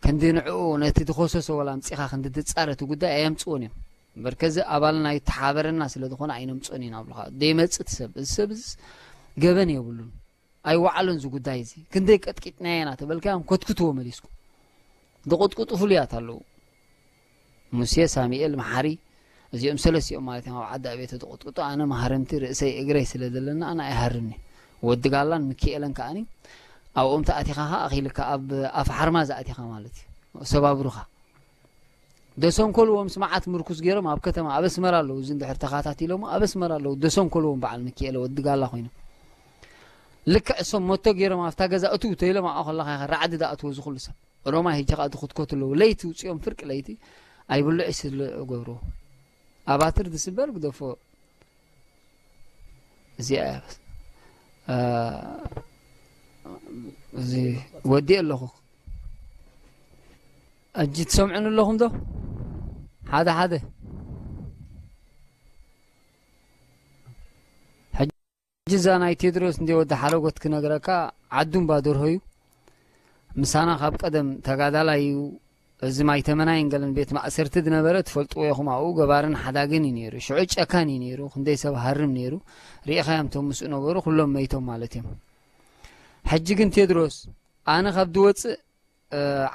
ክንዲ ንዕኡ ነቲ ዝኸሰሶ ወላ ኣምፂኻ ክንዲ ትፃረ እቲ ጉዳይ ኣየምፅዎን እዮም። እምበር ከዚ ኣባልና ይተሓበረና ስለ ዝኾነ ኣይነምፅኦን ኢና ብሉኻ ደይመፅእ እቲ ሰብ እዚ ሰብ እዚ ገበን የብሉን። ኣይወዓሎን እዚ ጉዳይ እዚ ክንደይ ቀጥቂጥናዮ ኢና ተበልካዮም ኮትክትዎ መሊስኩም። ዝቕጥቅጡ ፍሉያት ኣለዉ። ሙሴ ሳሚኤል መሓሪ እዚኦም ሰለስቲኦም ማለት እዮም ኣብ ዓዲ ኣቤተ ዝቕጥቅጡ ኣነ ማህረምቲ ርእሰይ እግረይ ስለ ዘለና ኣነ ኣይሃርምኒ። ወዲ ጋላን ምክኤለን ከኣኒ ኣብኦም ተኣቲኻ ኸ ኣኺልካ ኣብ ኣፍ ሓርማ ዝኣቲኻ ማለት እዩ ሰባብሩኻ። ደሰንኮልዎም ስማዓት ምርኩስ ገይሮም ኣብ ከተማ ኣብ ኣስመራ ኣለዉ እዚ እንድሕር ተኻታቲሎሞ ኣብ ኣስመራ ኣለዉ ደሰንኮልዎም በዓል ምክኤለ ወዲ ጋላ ኮይኖም ልክዕ እሶም ሞቶ ገይሮም ኣብታ ገዛ እትው ተይሎም ኣብኣ ከለኻ ኢኻ ራዕዲ ዝኣትዎ ዝኹሉ ሰብ ሮማ ሂጂ ከዓ ትኹትኮት ኣለዉ ለይቲ ውፅኦም ፍርቂ ለይቲ ኣይብልዑ ስለ ገብርዎ ኣባትር ዝስበር ግደፎ እዚኣ እያ እዚ ወዲእ ኣለኹ እጂ ትሰምዑን ኣለኹም ዶ ሓደ ሓደ ሕጂ እዛ ናይ ቴድሮስ እንደ ወዲ ሓረጎት ክነግረካ ዓዱ እምባ ደርሆ እዩ ምሳና ካብ ቀደም ተጋዳላይ እዩ እዚ ማይ ተመናይን ገለን ቤት ማእሰርቲ ዝነበረ ትፈልጥዎ ኢኹም ኣብኡ ገባርን ሓዳግን እዩ ነይሩ ሽዑ ጨካን እዩ ነይሩ ክንደይ ሰብ ሃርም ነይሩ ርኢኻዮም ቶም ምስኡ ነበሩ ኩሎም መይቶም ማለት እዮም ሕጂ ግን ቴድሮስ ኣነ ካብ ዝወፅእ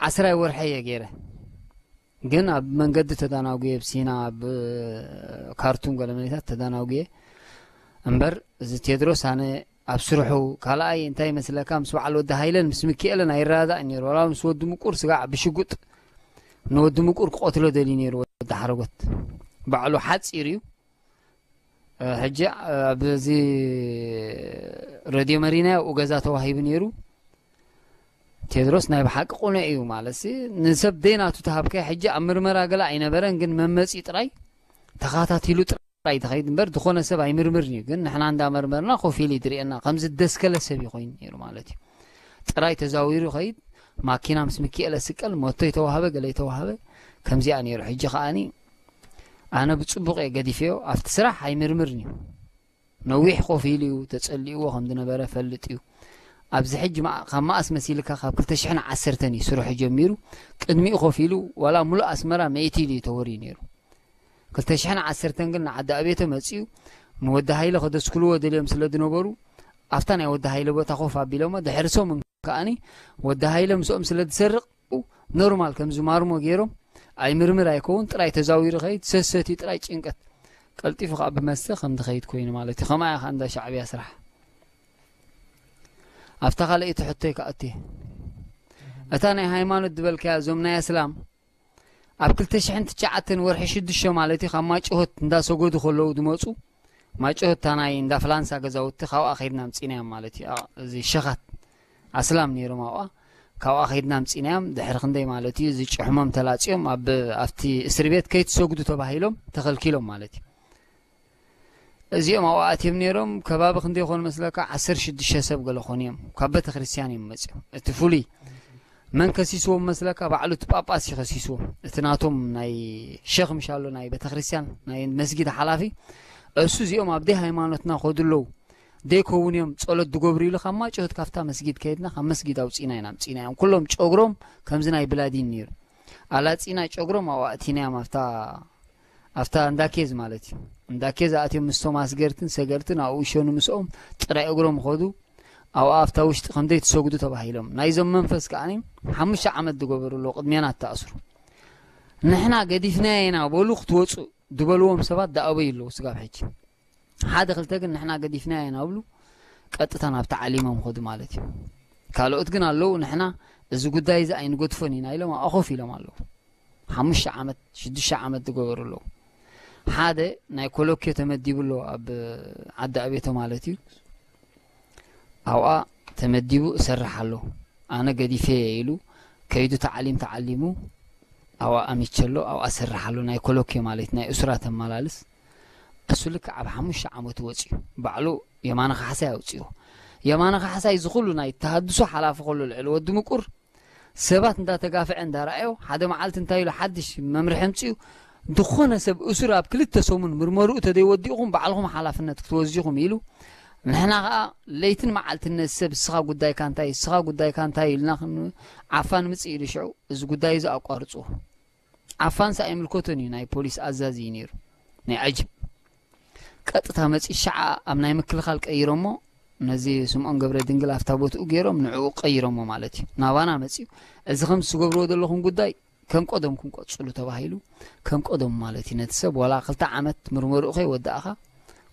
ዓስራይ ወርሐ እየ ገይረ። ግን ኣብ መንገዲ ተዳናጉየ፣ ኣብ ሲና፣ ኣብ ካርቱም ገለ መሬታት ተዳናጉየ እምበር፣ እዚ ቴድሮስ ኣነ ኣብ ስርሑ ካልኣይ እንታይ ይመስለካ፣ ምስ በዓል ወዲ ሃይለን ምስ ምክኤልን ኣይረዳዳእን ነይሩ። ዋላ ምስ ወዲ ምቁር ስጋዕ ብሽጉጥ ንወዲ ምቁር ክቐትሎ ደልዩ ነይሩ። ወዲ ሓረጎት ባዕሉ ሓፂር እዩ። ሕጂ ኣብዚ ረድዮ መሪና ኣብኡ ገዛ ተዋሂቡ ነይሩ። ቴድሮስ ናይ ብሓቂ ቁኑዕ እዩ ማለት ንሰብ ደይናቱ ተሃብካይ። ሕጂ ኣብ ምርመራ ገለ ኣይነበረን፣ ግን መመፂ ጥራይ ተኸታቲሉ ጥራይ ትኸይድ እምበር ዝኾነ ሰብ ኣይምርምርን እዩ። ግን ንሕና እንዳመርመርና ኮፍ ኢሉ ይድርየና፣ ከምዚ ደስከለ ሰብ እዩ ኮይኑ ነይሩ ማለት እዩ። ጥራይ ተዛዊሩ ይኸይድ። ማኪና ምስ ምክኤለ ስቀል፣ ሞቶ ይተዋህበ፣ ገለ ይተዋህበ፣ ከምዚኣ ነይሩ። ሕጂ ከኣኒ ኣነ ብጽቡቕ እየ ገዲፈዮ። ኣብቲ ስራሕ ኣይምርምርን እዩ። ነዊሕ ኮፍ ኢሉ እዩ፣ ተጸሊእዎ ከም ዝነበረ ፈልጥ እዩ። ኣብዚ ሕጂ ካብ መኣስ መሲልካ፣ ካብ ክልተ ሽሕን ዓሰርተን እዩ ስርሑ ጀሚሩ። ቅድሚኡ ኮፍ ኢሉ ዋላ ሙሉእ ኣስመራ መይቲ ኢሉ እዩ ተወርዩ ነይሩ። ክልተ ሽሕን ዓሰርተን ግን ንዓዲ ኣቤተ መጺኡ፣ ንወዲ ሃይለ ከደስክልዎ ደልዮም ስለ ዝነበሩ፣ ኣብታ ናይ ወዲ ሃይለ ቦታ ኮፍ ኣቢሎሞ፣ ድሕሪ ሰሙን ከኣኒ ወዲ ሃይለ ምስኦም ስለ ዝሰርቕ፣ ኖርማል ከምዚ ማርሞ ገይሮም፣ ኣይምርምር ኣይከውን፣ ጥራይ ተዛዊሩ ኸይድ፣ ሰሰትዩ ጥራይ ጭንቀት። ቀልጢፉ ከኣ ብመስተ ከም ዝኸይድ ኮይኑ ማለት እዩ። ከምኣ እያ ከኣ እንዳ ሻዕብያ ስራሕ። ኣብታ ካልኣይቲ ሕቶይ ከኣቱ እየ። እታ ናይ ሃይማኖት ዝበልካያ፣ እዞም ናይ ኣስላም ኣብ ክልተ ሽሕን ትሽዓተን ወርሒ ሽዱሽተ ማለት እዩ፣ ካብ ማጭሆት እንዳሰገዱ ከለዉ ዝመጹ፣ ማጭሆት እታ ናይ እንዳ ፍላንሳ ገዛውቲ፣ ካብኣ ከይድና ኣምጺናዮም ማለት እዩ። ኣ-፣ እዚ ሸኻት ኣስላም ነይሮም ኣብኣ፣ ካብኣ ከይድና ኣምጺናዮም። ድሕሪ ክንደይ ማለት እዩ፣ እዚ ጭሕሞም ተላጽዮም ኣብ፣ ኣብቲ እስሪ ቤት ከይትሰግዱ ተባሂሎም ተኸልኪሎም ማለት እዩ። እዚኦም ኣብኡ ኣትዮም ነይሮም፣ ከባቢ ክንደይ ይኾኑ መስለካ? ዓሰርተ ሽዱሽተ ሰብ ገለ ኾኑ እዮም። ካብ ቤተ ክርስቲያን እዮም መጺኦም። እቲ ፍሉይ መን ከሲስዎም መስለካ? ባዕሉ እቲ ጳጳስ እዩ ከሲስዎም። እቲ ናቶም ናይ ሸኽ ምሻሎ ናይ ቤተ ክርስቲያን፣ ናይ መስጊድ ሓላፊ፣ እሱ እዚኦም ኣብ ደይ ሃይማኖትና ከዱ ኣለዉ፣ ደይከውን እዮም ጸሎት ዝገብሩ ኢሉ፣ ካብ ማጭሆት ካብታ መስጊድ ከይድና፣ ካብ መስጊድ ኣውጺና ኢና ኣምጺናዮም። ኩሎም ጨጉሮም ከምዚ ናይ ብላዲን ነይሩ። ኣላጺና ጨጉሮም ኣብኡ ኣእቲናዮም፣ ኣብታ፣ ኣብታ እንዳ ኬዝ ማለት እዩ። እንዳ ኬዝ ኣትዮም ምስቶም ኣስገርትን ሰገርትን ኣብኡ ይሸኑ ምስኦም፣ ጥራይ እግሮም ኸዱ። ኣብኣ ኣብታ ውሽጢ ከም ዘይትሰግዱ ተባሂሎም። ናይዞም መንፈስ ከኣኒ ሓሙሽተ ዓመት ዝገበሩ ኣለዉ፣ ቅድሜና እተኣስሩ። ንሕና ገዲፍናዮ ኢና በሉ ክትወጹ ዝበልዎም ሰባት ዝኣበዩ ኣለዉ ስጋብ ሕጂ። ሓደ ክልተ ግን ንሕና ገዲፍናዮ ኢና ብሉ፣ ቀጥታ ናብ ተዓሊሞም ኸዱ ማለት እዩ። ካልኦት ግን ኣለዉ፣ ንሕና እዚ ጉዳይ እዚ ኣይንገድፎን ኢና ኢሎም ኣብኣ ኮፍ ኢሎም ኣለዉ። ሓሙሽተ ዓመት፣ ሽዱሽተ ዓመት ዝገበሩ ኣለዉ። ሓደ ናይ ኮሎኬ ተመዲቡ ኣሎ ኣብ ዓዲ ኣቤቶ ማለት እዩ። ኣብኣ ተመዲቡ እሰርሕ ኣሎ። ኣነ ገዲፈ እየ ኢሉ ከይዱ ተዓሊም ተዓሊሙ ኣብኣ ኣሚቸ ኣሎ፣ ኣብኣ እሰርሕ ኣሎ። ናይ ኮሎኬ ማለት ናይ እሱራት ኣመላልስ። እሱ ልክዕ ኣብ ሓሙሽተ ዓመቱ ወፂኡ። ባዕሉ የማነ ካሕሳይ ኣውፂኡ። የማነ ካሕሳይ እዚ ኩሉ ናይ ተሃድሶ ሓላፊ ከሎ ልዕሊ ወዲ ምቁር ሰባት እንዳተጋፍዐ እንዳረኣዮ፣ ሓደ መዓልቲ እንታይ ኢሉ ሓድሽ መምርሒ ኣምፂኡ፣ ዝኾነ ሰብ እሱር ኣብ ክልተ ሰሙን ምርመርኡ ተደይወዲእኹም ባዕልኹም ሓላፍነት ክትወስዱ ኢኹም ኢሉ። ንሕና ኸዓ ለይትን መዓልትን ነዚ ሰብ እስኻ ጉዳይካ እንታይ፣ እስኻ ጉዳይካ እንታይ ኢልና ክን-፣ ዓፋን ምፅእ ኢሉ ሽዑ እዚ ጉዳይ እዚ ኣቋርፅዎ። ዓፋንስ ኣይምልከቶን እዩ፣ ናይ ፖሊስ ኣዛዚ እዩ ነይሩ፣ ናይ ዓጅብ። ቀጥታ መፂ ሸዓ ኣብ ናይ ምክልኻል ቀይሮሞ፣ ነዚ ስምዖን ገብረ ድንግል ኣብታ ቦትኡ ገይሮም ንዕኡ ቀይሮሞ ማለት እዩ። ናባና መፂኡ፣ እዚ ከም ትገብርዎ ዘለኹም ጉዳይ ከም ቀደምኩም ቀፅሉ ተባሂሉ፣ ከም ቀደሙ ማለት እዩ። ነቲ ሰብ ዋላ ክልተ ዓመት ምርመርኡ ከይወዳእኻ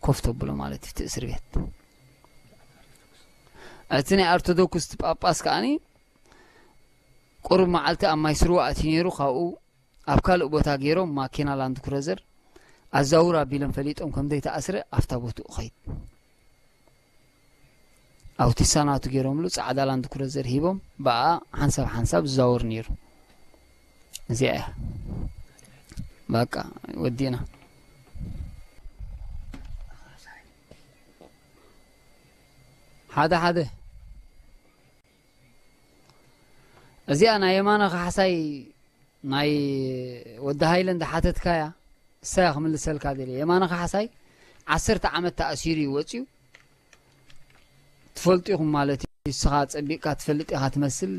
ኮፍ ተብሎ ማለት እዩ፣ እቲ እስሪ ቤት። እቲ ናይ ኦርቶዶክስ ጳጳስ ከኣኒ ቁሩብ መዓልቲ ኣብ ማይ ስርዋ ኣትዩ ነይሩ፣ ካብኡ ኣብ ካልእ ቦታ ገይሮም ማኪና ላንድ ክሩዘር ኣዛውር ኣቢሎም ፈሊጦም ከም ዘይተኣስረ ኣብታ ቦትኡ ኸይድ። ኣውቲሳ ናቱ ገይሮምሉ፣ ጻዕዳ ላንድ ክሩዘር ሂቦም፣ ብኣ ሓንሳብ ሓንሳብ ዝዛወር ነይሩ። እዚኣ እያ። በቃ ወዲእና። ሓደ ሓደ እዚኣ ናይ የማነ ካሕሳይ ናይ ወዲ ሃይለ እንዳሓተትካያ፣ እሳ እያ ክምልሰልካ ደልየ። የማነ ካሕሳይ ዓሰርተ ዓመት ተኣሲሩ እዩ ወፂኡ። ትፈልጡ ኢኹም ማለት እዩ። ንስኻ ጸቢቕካ ትፈልጥ ኢኻ ትመስል።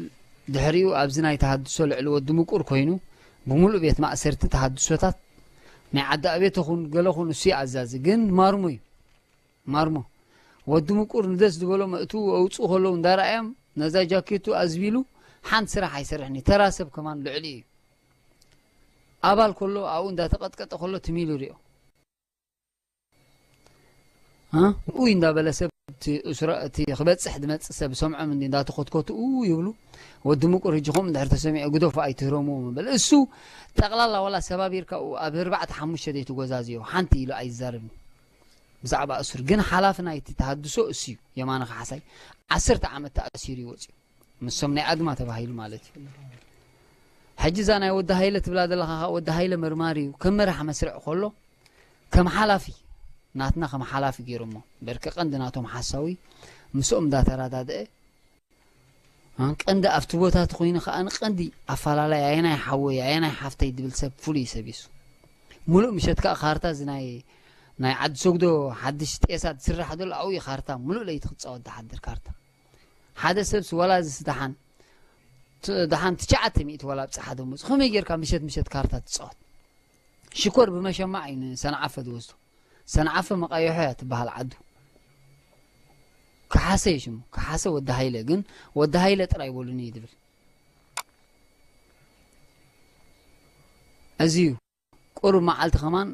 ድሕሪኡ ኣብዚ ናይ ተሃድሶ ልዕሊ ወዲ ምቁር ኮይኑ፣ ብምሉእ ቤት ማእሰርቲ ተሃድሶታት ናይ ዓዲ ኣቤት ኹን ገለ ኹን እሱ እዩ ኣዛዚ። ግን ማርሞ እዩ። ማርሞ። ወዲ ምቁር ንደስ ዝበሎም እትዉ ኣውፅኡ ከለዉ እንዳረኣዮም፣ ነዛ ጃኬቱ ኣዝቢሉ ሓንቲ ስራሕ ኣይሰርሕን እዩ። ተራ ሰብ ከማን ልዕሊ እዩ። ኣባል ከሎ ኣብኡ እንዳተቐጥቀጠ ከሎ ትም ኢሉ ሪኦ። እ? ኡይ እንዳበለ ሰብ እቲ እሱራ-፣ እቲ ክበጽሕ ዝመጽእ ሰብ ሰምዖም እንዲ እንዳተኾትኮቱ ኡ ይብሉ። ወዲ ምቁር ህጂ ከምኡ እንድሕር ተሰሚዑ ግደፉ ኣይትህረምዎ ምበል። እሱ ጠቕላላ ዋላ ሰባቢርካ ኡ ኣብ ኣርባዕተ ሓሙሽተ ዘይትጎዛዝዮ ሓንቲ ኢሉ ኣይዛረብን። ብዛዕባ እሱር ግን ሓላፊ ናይቲ ተሃድሶ እሱ እዩ። የማነ ካሕሳይ ዓሰርተ ዓመት ተኣሲሩ እዩ ወፂኡ። ምሶም ናይ ኣድማ ተባሂሉ ማለት እዩ። ሕጂ እዛ ናይ ወዲ ሃይለ ትብላ ዘለኻ ኸዓ ወዲ ሃይለ መርማሪ እዩ። ከም መራሕ መስርዕ ከሎ ከም ሓላፊ ናትና ከም ሓላፊ ገይሮሞ። በርቂ ቀንዲ ናቶም ሓሳዊ ምስኦም እንዳተረዳድአ፣ እ፣ ቀንዲ ኣብቲ ቦታ እቲ ኮይኑ ኸዓ ቀንዲ ኣፋላላይ ኣየናይ ሓወይ ኣየናይ ሓፍተይ ድብል ሰብ ፍሉይ ሰብ እዩ እሱ። ሙሉእ ምሸት ከዓ ካርታ እዚ ናይ፣ ናይ ዓዲ ሰጉዶ ሓድሽ ጤሳ ዝስራሕ ዘሎ ኣብኡ እዩ ካርታ ሙሉእ ለይቲ ክፃወት ዝሓድር ካርታ። ሓደ ሰብስ ዋላ እዚ ደሓን ት-፣ ደሓን ትሽዓተ ሚእቲ ዋላ ኣብፅሓ ደሞዝ። ከመይ ጌርካ ምሸት ምሸት ካርታ ትፃወት? ሽኮር ብመሸማዕ እዩ ንሰንዓፈ ዝወስዶ። ሰንዓፈ መቃየሖ እያ ትበሃል ዓዱ። ከሓሰ እዩ ሽሙ። ከሓሰ ወዲ ሃይለ፣ ግን ወዲ ሃይለ ጥራይ በሉኒ እዩ ዝብል። እዚ እዩ። ቁሩብ መዓልቲ ከማን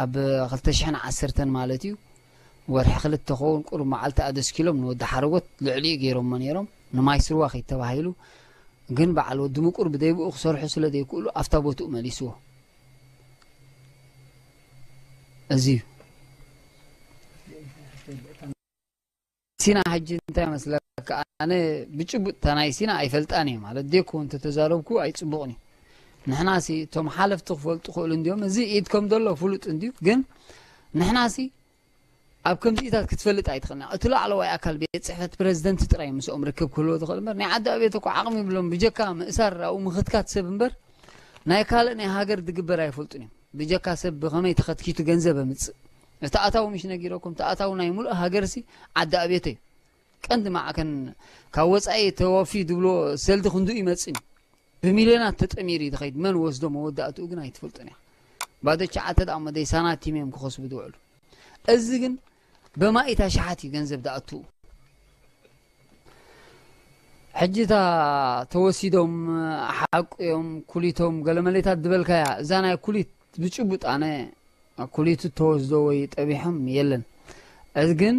ኣብ ክልተ ሽሕን ዓሰርተን ማለት እዩ፣ ወርሒ ክልተ ኸውን ቁሩብ መዓልቲ ኣደስኪሎም ንወዲ ሓረጎት ልዕሊኡ ገይሮሞ ነይሮም። ንማይ ስርዋ ከይተባሂሉ ግን በዓል ወዲ ምቁር ብደይብኡ ክሰርሑ ስለ ዘይክእሉ ኣብታ ቦትኡ መሊስዎ። እዚ እዩ። ሲና ሕጂ እንታይ መስለካ? ኣነ ብጭቡጥ እታ ናይ ሲና ኣይፈልጣን እየ ማለት ዴኮ እንተተዛረብኩ ኣይጽቡቕን እዩ። ንሕናሲ እቶም ሓለፍቲ ክፈልጡ ክእሉ እንዲዮም። እዚ ኢድኮም ዘሎ ፍሉጥ እንድዩ፣ ግን ንሕናሲ ኣብ ከምዚኢታት ክትፈልጥ ኣይትኽእልና። እቲ ላዕለዋይ ኣካል ቤት ጽሕፈት ፕረዚደንት ጥራይ ምስኦም ርክብ ክህልዎ ዝኽእል እምበር ናይ ዓዲ ኣቤት እኮ ዓቕሚ ይብሎም። ብጀካ ምእሳር ኣብኡ ምኽትካት ሰብ እምበር ናይ ካልእ ናይ ሃገር ዝግበር ኣይፈልጡን እዮም። ብጀካ ሰብ ብኸመይ ተኸትኪቱ ገንዘብ ኣምጽእ። እቲ ኣታዊ ምሽ ነጊረኩም፣ እቲ ኣታዊ ናይ ሙሉእ ሃገርሲ ዓዲ ኣቤት እዩ። ቀንዲ ማዕከን ካብ ወጻኢ ተወፊ ዝብሎ ሰልዲ ክንዱ ይመጽእ እዩ። ብሚልዮናት ተጠሚሩ እዩ ዝኸይድ። መን ወስዶ መወዳእትኡ ግን ኣይትፈልጡን እያ። ባዶ ቻዓተ ደኣ እሞ ደይ ሳናቲም እዮም ክኸስቡ ዝውዕሉ። እዚ ግን በማኢት ኣሽሓት እዩ ገንዘብ ዝኣትዉ። ሕጂ እታ ተወሲዶም ሓቁ እዮም ኩሊቶም ገለመሌታት ዝበልካያ፣ እዛ ናይ ኩሊት ብጭቡጥ ኣነ ኩሊቱ ተወስዶ ወይ ጠቢሖም የለን። እዚ ግን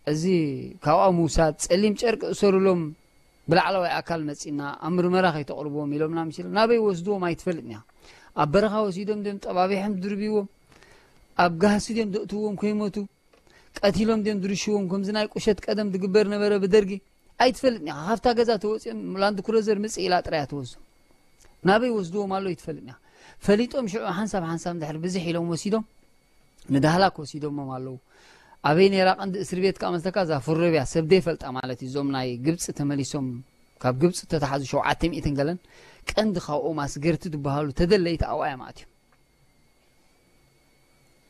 እዚ ካብኣ ምውሳድ ጸሊም ጨርቂ እሰሩሎም ብላዕለዋይ ኣካል መጺና ኣብ ምርመራ ከይተቕርብዎም ኢሎምና ምስ ኢሎም ናበይ ወስድዎም ኣይትፈልጥን እያ። ኣብ በረኻ ወሲዶም ድዮም ጠባቢሖም ድርብይዎም፣ ኣብ ጋህሲ ድዮም ዘእትውዎም ከይሞቱ፣ ቀቲሎም ድዮም ድርሽዎም፣ ከምዚ ናይ ቁሸት ቀደም ድግበር ነበረ ብደርጊ ኣይትፈልጥን እያ። ካብታ ገዛ ተወጺኦም ላንድ ክሩዘር ምጽእ ኢላ ጥራይ እያ ትወስዶም። ናበይ ወስድዎም ኣሎ ኣይትፈልጥን እያ። ፈሊጦም ሽዑ ሓንሳብ ሓንሳብ እንድሕር ብዝሕ ኢሎም ወሲዶም ንዳህላክ ወሲዶሞም ኣለዉ። ኣበይ ነይራ ቀንዲ እስር ቤት ከኣ መስለካ እዛ ፍሮብያ ሰብ ዘይፈልጣ ማለት እዩ። እዞም ናይ ግብጺ ተመሊሶም ካብ ግብጺ እተታሓዙ ሸውዓተ ሚእትን ገለን ቀንዲ ካብኦም ኣስገርቲ ዝበሃሉ ተደለይቲ ኣብኣ እዮም ኣትዮም።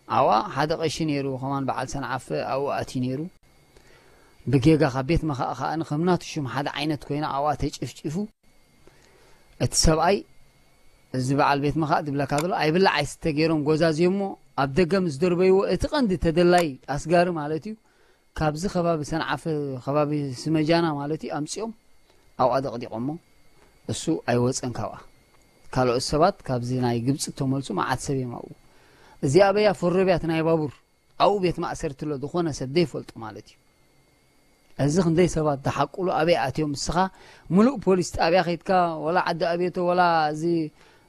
ኣብኣ ሓደ ቀሺ ነይሩ ከማን በዓል ሰንዓፈ ኣብኡ ኣትዩ ነይሩ። ብጌጋ ካብ ቤት መኻእ ከኣ ከም ናቱ ሽም ሓደ ዓይነት ኮይና ኣብኣ ተጨፍጪፉ። እቲ ሰብኣይ እዚ በዓል ቤት መኻእ ዝብለካ ዘሎ ኣይብላዕ ኣይስተ ገይሮም ጎዛዝዮሞ ኣብ ደገ ምስ ደርበይዎ እቲ ቀንዲ ተደላይ ኣስጋሪ ማለት እዩ ካብዚ ከባቢ ሰንዓፈ ከባቢ ስመጃና ማለት እዩ ኣምጺኦም ኣብኣ ደቕዲቖሞ። እሱ ኣይወጸን ካብኣ። ካልኦት ሰባት ካብዚ ናይ ግብጺ እተመልሱ መዓት ሰብ እዮም ኣብኡ። እዚኣ ኣበያ ፈረብያ እቲ ናይ ባቡር ኣብኡ ቤት ማእሰርቲ ኣሎ ዝኾነ ሰብ ዘይፈልጦ ማለት እዩ። እዚ ክንደይ ሰባት ዝሓቁሉ ኣበይ ኣትዮም እስኻ ምሉእ ፖሊስ ጣብያ ከይድካ ወላ ዓዲ ኣቤቶ ወላ እዚ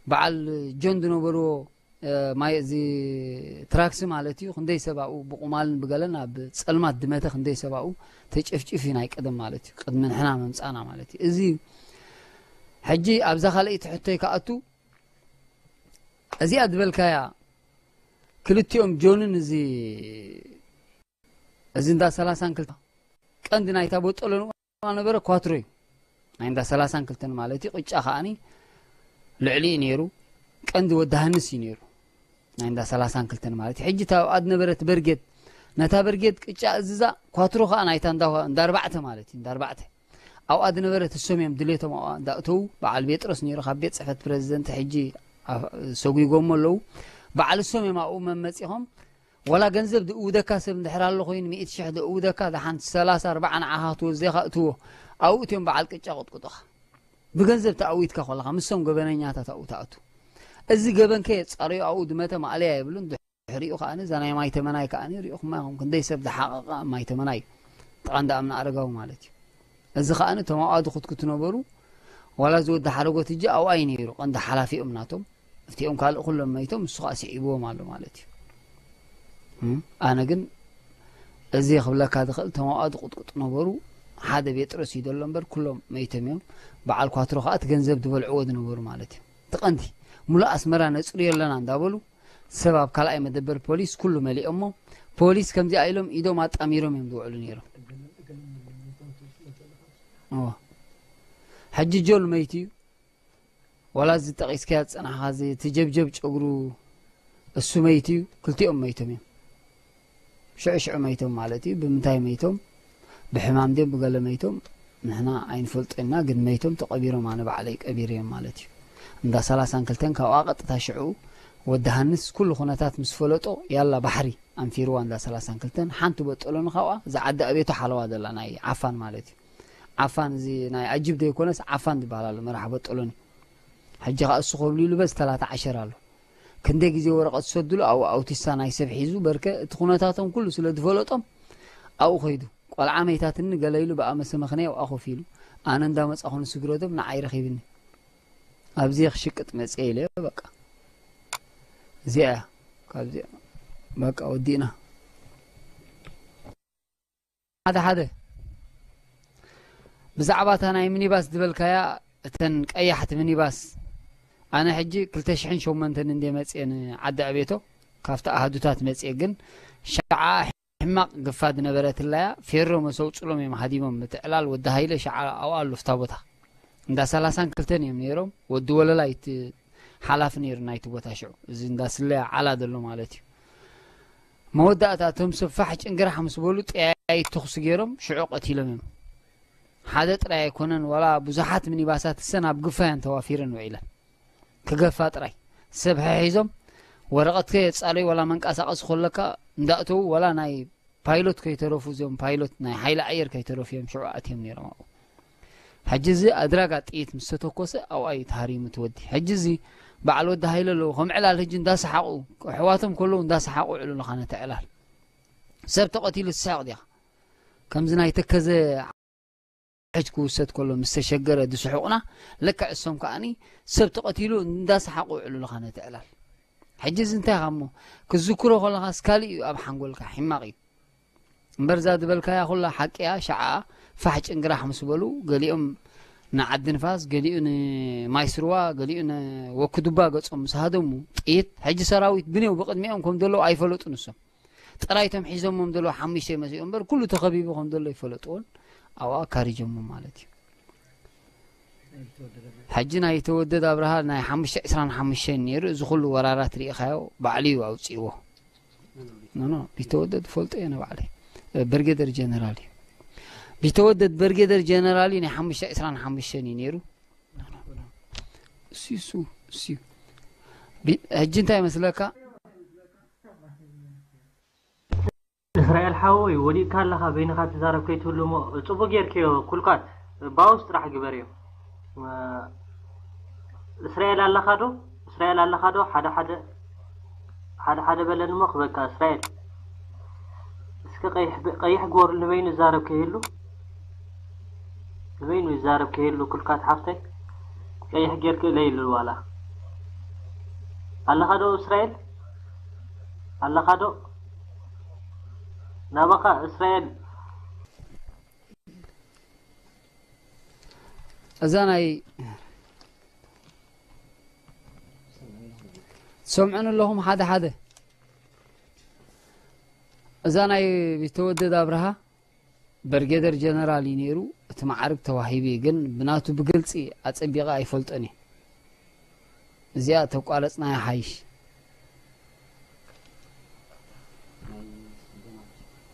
በዓል ጆን ዝነበርዎ እ፣ ማይ እዚ ትራክሲ ማለት እዩ ክንደይ ሰብ ኣብኡ ብቁማልን ብገለን ኣብ ጸልማት ድመተ ክንደይ ሰብ ኣብኡ ተጨፍጭፍ እዩ ናይ ቀደም ማለት እዩ ቅድሚ ንሕና መምጻና ማለት እዩ እዚ ሕጂ ኣብዛ ካልኣይቲ ሕቶይ ክኣቱ እዚኣ ዝበልካያ ክልቲኦም ጆንን እዚ እዚ እንዳ ሰላሳን ክልተ ቀንዲ ናይታ ቦጠሎ ንኡ ነበረ ኳትሮ እዩ ናይ እንዳ ሰላሳን ክልተን ማለት እዩ ቅጫ ከዓኒ ልዕሊ እዩ ነይሩ ቀንዲ ወዲ ሃንስ እዩ ነይሩ ናይ እንዳ ሰላሳን ክልተን ማለት እዩ ሕጂ እታ ኣብኣ ዝነበረት በርጌድ ነታ በርጌድ ቅጫ እዝዛ ኳትሮ ከዓ ናይታ እንዳ እንዳ ኣርባዕተ ማለት እዩ እንዳ ኣርባዕተ ኣብኣ ዝነበረት እሶም እዮም ድሌቶም ኣብኣ እንዳእተዉ በዓል ቤጥሮስ ነይሩ ካብ ቤት ፅሕፈት ፕረዚደንት ሕጂ ኣፍ- ሰጒጎሞ ኣለዉ በዓል እሶም እዮም ኣብኡ መመፂኾም ወላ ገንዘብ ድእውደካ ሰብ እንድሕር ኣሎ ኮይኑ ሚእቲ ሽሕ ድእውደካ ደሓን ሰላሳ ኣርባዓ ንዓኻ ክትወስድ ኢኻ እትዎ ኣብኡ እትዮም በዓል ቅጫ ቅጥቅጡኻ። ብገንዘብ ተኣዊትካ ከለኻ፣ ምሶም ገበነኛታት ኣብኡ ተኣቱ። እዚ ገበንከ የጻርዮ ኣብኡ ድመተ ማእለያ የብሉን። ድሕሪኡ ከኣ እዛ ናይ ማይ ተመናይ ከኣ ሪእኹማ ኢኹም። ክንደይ ሰብ ዝሓቐቐ ኣብ ማይ ተመናይ እዩ። ጥቓ እንዳ ኣምና ኣረጋዊ ማለት እዩ። እዚ ከኣ እቶም ኣብኣ ዝኹትኩቱ ነበሩ። ዋላ እዚ ወዲ ሓረጎት እጂ ኣብኣ እዩ ነይሩ። ቀንዲ ሓላፊኦም ናቶም። እቲኦም ካልእ ኩሎም መይቶም፣ እሱ ከኣ ስዒብዎም ኣሎ ማለት እዩ። እም፣ ኣነ ግን እዚ ክብለካ ዝኽእል፣ እቶም ኣብኣ ዝቕጥቅጡ ነበሩ። ሓደ ቤጥሮስ እዩ ዘሎ እምበር፣ ኩሎም መይቶም እዮም። በዓል ኳትሮ ከኣ እቲ ገንዘብ ዝበልዕዎ ዝነበሩ ማለት እዩ። እቲ ቀንዲ፣ ሙሉእ ኣስመራ ነጽርዮ ኣለና እንዳበሉ፣ ሰብ ኣብ ካልኣይ መደበር ፖሊስ ኩሉ መሊኦሞ፣ ፖሊስ ከምዚኣ ኢሎም ኢዶም ኣጣሚሮም እዮም ዝውዕሉ ነይሮም። እዎ። ሕጂ ጆል መይቱ እዩ። ዋላ እዚ ጠቒስካዮ ዝጸናሕካ እዚ እቲ ጀብጀብ ጨጉሩ እሱ መይቱ እዩ። ክልቲኦም መይቶም እዮም። ሽዑ ሽዑ መይቶም ማለት እዩ። ብምንታይ መይቶም? ብሕማም ድዮም ብገለ መይቶም? ንሕና ኣይንፈልጦ ኢና፣ ግን መይቶም ተቐቢሮም ኣነ ባዕለይ ቀቢረዮም ማለት እዩ። እንዳ ሰላሳን ክልተን ካብኣ ቀጥታ ሽዑ ወዲ ሃንስ ኩሉ ኩነታት ምስ ፈለጦ ያላ ባሕሪ ኣንፊርዋ እንዳ ሰላሳን ክልተን ሓንቲ በጠሎኒ ካብኣ እዛ ዓዲ ኣቤቶ ሓለዋ ዘላ ናይ ዓፋን ማለት እዩ። ዓፋን እዚ ናይ ኣጅብ ዘይኮነስ ዓፋን ዝበሃል ኣሎ መራሕ በጠሎኒ። ሕጂ ከኣ እሱ ከብሉ ኢሉ በዚ ተላተ ዓሸር ኣሎ። ክንደይ ግዜ ወረቐት ዝሰድሉ ኣብኡ ኣውቲሳ ናይ ሰብ ሒዙ በርከ እቲ ኩነታቶም ኩሉ ስለ ዝፈለጦም ኣብኡ ከይዱ። ቆልዓ መይታትኒ ገለ ኢሉ ብኣመሰ መኽንያ ኣብኣ ኮፍ ኢሉ። ኣነ እንዳመጻኹ ንስግረቶም ንዓይ ረኺብኒ። ኣብዚ ክሽቅጥ መጽየ ኢለ በቃ። እዚኣ እያ። ካብዚኣ በቃ ወዲእና። ሓደ ሓደ ብዛዕባ እታ ናይ ሚኒባስ ዝበልካያ፣ እተን ቀያሕቲ ሚኒባስ፣ ኣነ ሕጂ ክልተ ሽሕን ሸሞንተን እንደ መጽየ ንዓዲ ኣቤቶ፣ ካብቲ ኣሃዱታት መጽየ፣ ግን ሸዓ ሕማቕ ግፋ ዝነበረትላያ ፌሮ መሰውጽሎም እዮም ሃዲሞም። እቲ ዕላል ወዲ ሃይለ ሸዓ ኣብኣ ኣሎ፣ ፍታ ቦታ። እንዳ ሰላሳን ክልተን እዮም ነይሮም። ወዲ ወለላ እዩ እቲ ሓላፊ ነይሩ ናይቲ ቦታ ሽዑ። እዚ እንዳ ስለያ ዓላ ዘሎ ማለት እዩ። መወዳእታ እቶም ሰብ ፋሕ ጭንግራሕ ምስ በሉ ጠያይት ተኹሲ ገይሮም ሽዑ ቀቲሎም እዮም። ሓደ ጥራይ ኣይኮነን፣ ዋላ ብዙሓት ሚኒባሳት እሰን ኣብ ግፋ እየን ተዋፊረን ውዒለን። ክገፋ ጥራይ። ሰብ ሓሒዞም ወረቐትከ የጻረዩ ዋላ መንቀሳቐሲ ከለካ እንዳእተዉ ዋላ ናይ ፓይሎት ከይተረፉ፣ እዚኦም ፓይሎት ናይ ሓይሊ ኣየር ከይተረፉ እዮም ሽዑ ኣትዮም ነይሮም ኣብኡ። ሕጂ እዚ ኣድራጋ ጥይት ምስ ተተኮሰ ኣብኣ እዩ ተሃሪሙ እቲ ወዲ። ሕጂ እዚ በዓል ወዲ ሃይለ ኣለዉ፣ ከም ዕላል ሕጂ እንዳሰሓቑ፣ ኣሕዋቶም ከለዉ እንዳሰሓቑ ውዕሉ ኣለኻ ነቲ ዕላል። ሰብ ተቐቲሉ ትስሕቕ ዲኻ? ከምዚ ናይ ተከዘ ሕጅ ክውሰድ ከሎ ምስ ተሸገረ ዝስሕቑና፣ ልክዕ እሶም ከኣኒ ሰብ ተቐቲሉ እንዳሰሓቑ ውዕሉ ኣለኻ ነቲ ዕላል። ሕጂ እዚ እንታይ ኢኻ እሞ? ክዝክሮ ከለኻስ ካልእ እዩ ኣብ ሓንጎልካ፣ ሕማቕ እዩ። እምበር እዛ ዝበልካያ ኩላ ሓቂ እያ። ሸዓ ፋሕ ጭንግራሕ ምስ በሉ፣ ገሊኦም ንዓዲ ንፋስ፣ ገሊኡ ንማይ ስርዋ፣ ገሊኡ ንወክዱባ ገጾም ምስ ሃደሙ፣ ጥይት፣ ሕጂ ሰራዊት ብኔው ብቕድሚኦም ከም ዘለዉ ኣይፈለጡን እሶም። ጥራይ እቶም ሒዞሞም ዘለዉ ሓሙሽተ ይመስሉ እምበር፣ ኩሉ ተኸቢቡ ከም ዘሎ ይፈለጥዎን ኣብኣ ካሪጆሞ ማለት እዩ። ሕጂ ናይ ተወደድ ኣብርሃ ናይ ሓሙሽተ ዕስራን ሓሙሽተን ነይሩ። እዚ ኩሉ ወራራት ርኢኻዮ፣ ባዕሉ እዩ ኣውፅእዎ። ኖ፣ ኖ፣ ቢተወደድ ፈልጦ እየ ንባዕለይ። ብርጌደር ጀነራል እዩ። ቢተወደድ ብርጌደር ጀነራል እዩ፣ ናይ ሓሙሽተ ዕስራን ሓሙሽተን እዩ ነይሩ። እሱ፣ እሱ፣ እሱ እዩ። ቢ-፣ ሕጂ እንታይ ይመስለካ? እስራኤል ሓወይ፣ ወዲቕካ ኣለኻ፣ በይንኻ ትዛረብ ከይትህሉ እሞ፣ ጽቡቕ ጌርክዮ፣ ኩልኳት፣ ባውስ ጥራሕ ግበርዮ። እ፣ እስራኤል ኣለኻ ዶ? እስራኤል ኣለኻ ዶ? ሓደ ሓደ፣ ሓደ ሓደ በለኒ እሞ ክበካ፣ እስራኤል። እስከ ቀይሕ፣ ቀይሕ ግበሩ፣ ንበይኑ ይዛረብ ከይህሉ። ንበይኑ ይዛረብ ከይህሉ፣ ኩልኳት ሓፍተይ፣ ቀይሕ ጌርክ ኢለ ኢሉ ዋላ። ኣለኻ ዶ እስራኤል? ኣለኻ ዶ? ናባኻ እስራኤል። እዛ ናይ፣ ትሰምዑኒ ኣለኹም ሓደ ሓደ። እዛ ናይ ቢተወደድ ኣብርሃ ብርጌደር ጀነራል እዩ ነይሩ። እቲ ማዕርግ ተዋሂቡ እዩ፣ ግን ብናቱ ብግልጺ ኣጸቢቐ ኣይፈልጦን እየ። እዚኣ ተቋረጽናያ ሓይሽ።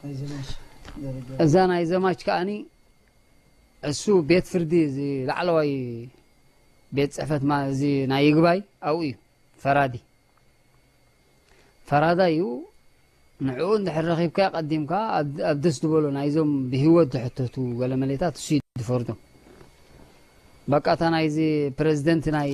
ናይ ዘማች ደረጃ። እዛ ናይ ዘማች ከኣኒ እሱ ቤት ፍርዲ፣ እዚ ላዕለዋይ ቤት ጽሕፈት ማ-፣ እዚ ናይ ይግባይ ኣብኡ እዩ ፈራዲ። ፈራዳይ እዩ። ንዕኡ እንድሕር ረኺብካ ቀዲምካ ኣብ ደስ ዝበሎ ናይዞም ብህይወት ዝሕተቱ ገለ መሌታት እሱ እዩ ዝፈርዶም። በቃ እታ ናይዚ ፕረዚደንት ናይ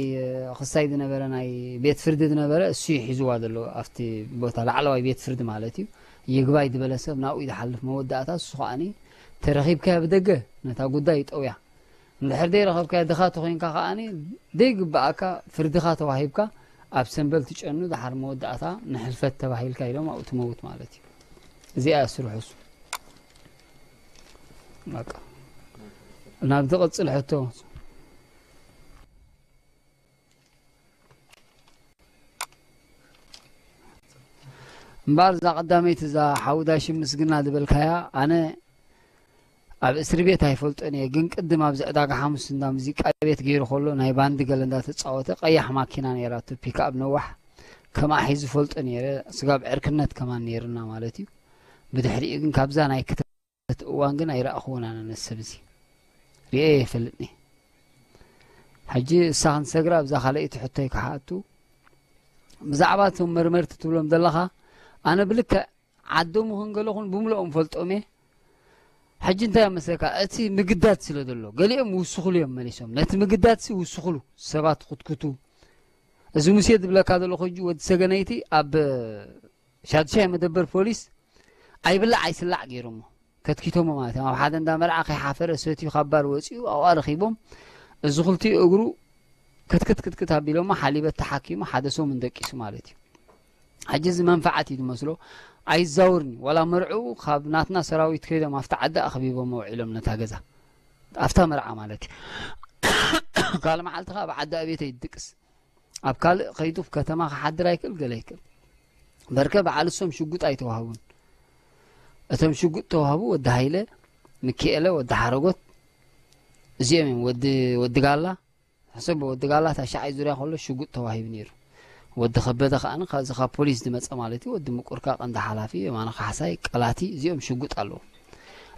ክሳይ ዝነበረ ናይ ቤት ፍርዲ ዝነበረ እሱ እዩ ሒዝዋ ዘሎ ኣብቲ ቦታ ላዕለዋይ ቤት ፍርዲ ማለት እዩ። ይግባይ ዝበለ ሰብ ናብኡ እዩ ዝሓልፍ መወዳእታ እሱ ከዓኒ ተረኺብካያ ብደገ ነታ ጉዳይ ይጠውያ። እንድሕር ደይ ረኸብካያ ድኻ ተኾይንካ ከዓኒ ደይ ግብኣካ ፍርድኻ ተዋሂብካ ኣብ ሰንበል ትጨኑ ድሓር መወዳእታ ንሕልፈት ተባሂልካ ኢሎም ኣብኡ ትመውት ማለት እዩ። እዚኣ ስርሑ እሱ። በቃ ናብ ዝቕጽል ሕቶ እምበኣር እዛ ቀዳመይቲ እዛ ሓውዳሽ ምስግና ዝበልካያ ኣነ ኣብ እስሪ ቤት ኣይፈልጦን እየ፣ ግን ቅድም ኣብዚ ዕዳጋ ሓሙስ እንዳ ሙዚቃ ቤት ገይሩ ከሎ ናይ ባንዲ ገለ እንዳተጻወተ ቀያሕ ማኪና ነይራቱ ፒክኣፕ ነዋሕ ከምኣ ሒዙ ፈልጦ ነይረ። ስጋብ ዕርክነት ከማን ነይርና ማለት እዩ። ብድሕሪኡ ግን ካብዛ ናይ ክተት እዋን ግን ኣይረኣኽዎን ኣነ ነዚ ሰብ እዚ ርእየ የፈልጥኒ። ሕጂ እሳ ክንሰግራ ኣብዛ ካልኣይቲ ሕቶይ ክሓቱ ብዛዕባ እቶም መርመርቲ ትብሎም ዘለኻ ኣነ ብልክዕ ዓዶም ይኹን ገለኹን ብምልኦም ፈልጦም እየ። ሕጂ እንታይ መስለካ እቲ ምግዳድ ስለ ዘሎ ገሊኦም ውስኹሉ እዮም መሊሶም ነቲ ምግዳድ ሲ ውስኹሉ ሰባት ኩትኩቱ። እዚ ሙሴ ዝብለካ ዘለኹ ሕጂ ወዲ ሰገነይቲ ኣብ ሻድሻይ መደበር ፖሊስ ኣይብላዕ ኣይስላዕ ገይሮሞ ከትኪቶሞ ማለት እዮም። ኣብ ሓደ እንዳ መርዓ ከይሓፈረ ሰትዩ ካብ ባር ወፂኡ ኣብኣ ረኺቦም እዚ ክልቲኡ እግሩ ክትክት ክትክት ኣቢሎሞ ሓሊበት ተሓኪሙ ሓደ ሰሙን ደቂሱ ማለት እዩ። ሕጂ እዚ መንፈዓት እዩ ዝመስሎ ኣይዛውርኒ ዋላ መርዕኡ ካብ ናትና ሰራዊት ከይዶም ኣብቲ ዓዲ ኣኽቢቦም ኣውዒሎም ነታ ገዛ ኣብታ መርዓ ማለት እዩ። ካልእ መዓልቲ ከዓ ኣብ ዓዲ ኣቤት ይድቅስ ኣብ ካልእ ከይዱ ከተማ ክሓድር ኣይክእል ገለ ይክእል በርከ በዓል እሶም ሽጉጥ ኣይተዋህቡን። እቶም ሽጉጥ ተዋህቡ ወዲ ሃይለ፣ ምኪኤለ፣ ወዲ ሓረጎት እዚኦም እዮም። ወዲ ወዲ ጋላ ሕሰብ ወዲ ጋላ ታሻዓይ ዙርያ ከሎ ሽጉጥ ተዋሂቡ ነይሩ። ወዲ ከበደ ከዓኒ ካብዚ ካብ ፖሊስ ዝመፀ ማለት እዩ። ወዲ ምቁርካ ቀንዲ ሓላፊ የማነ ካሕሳይ ቀላቲ እዚኦም ሽጉጥ ኣለዎም።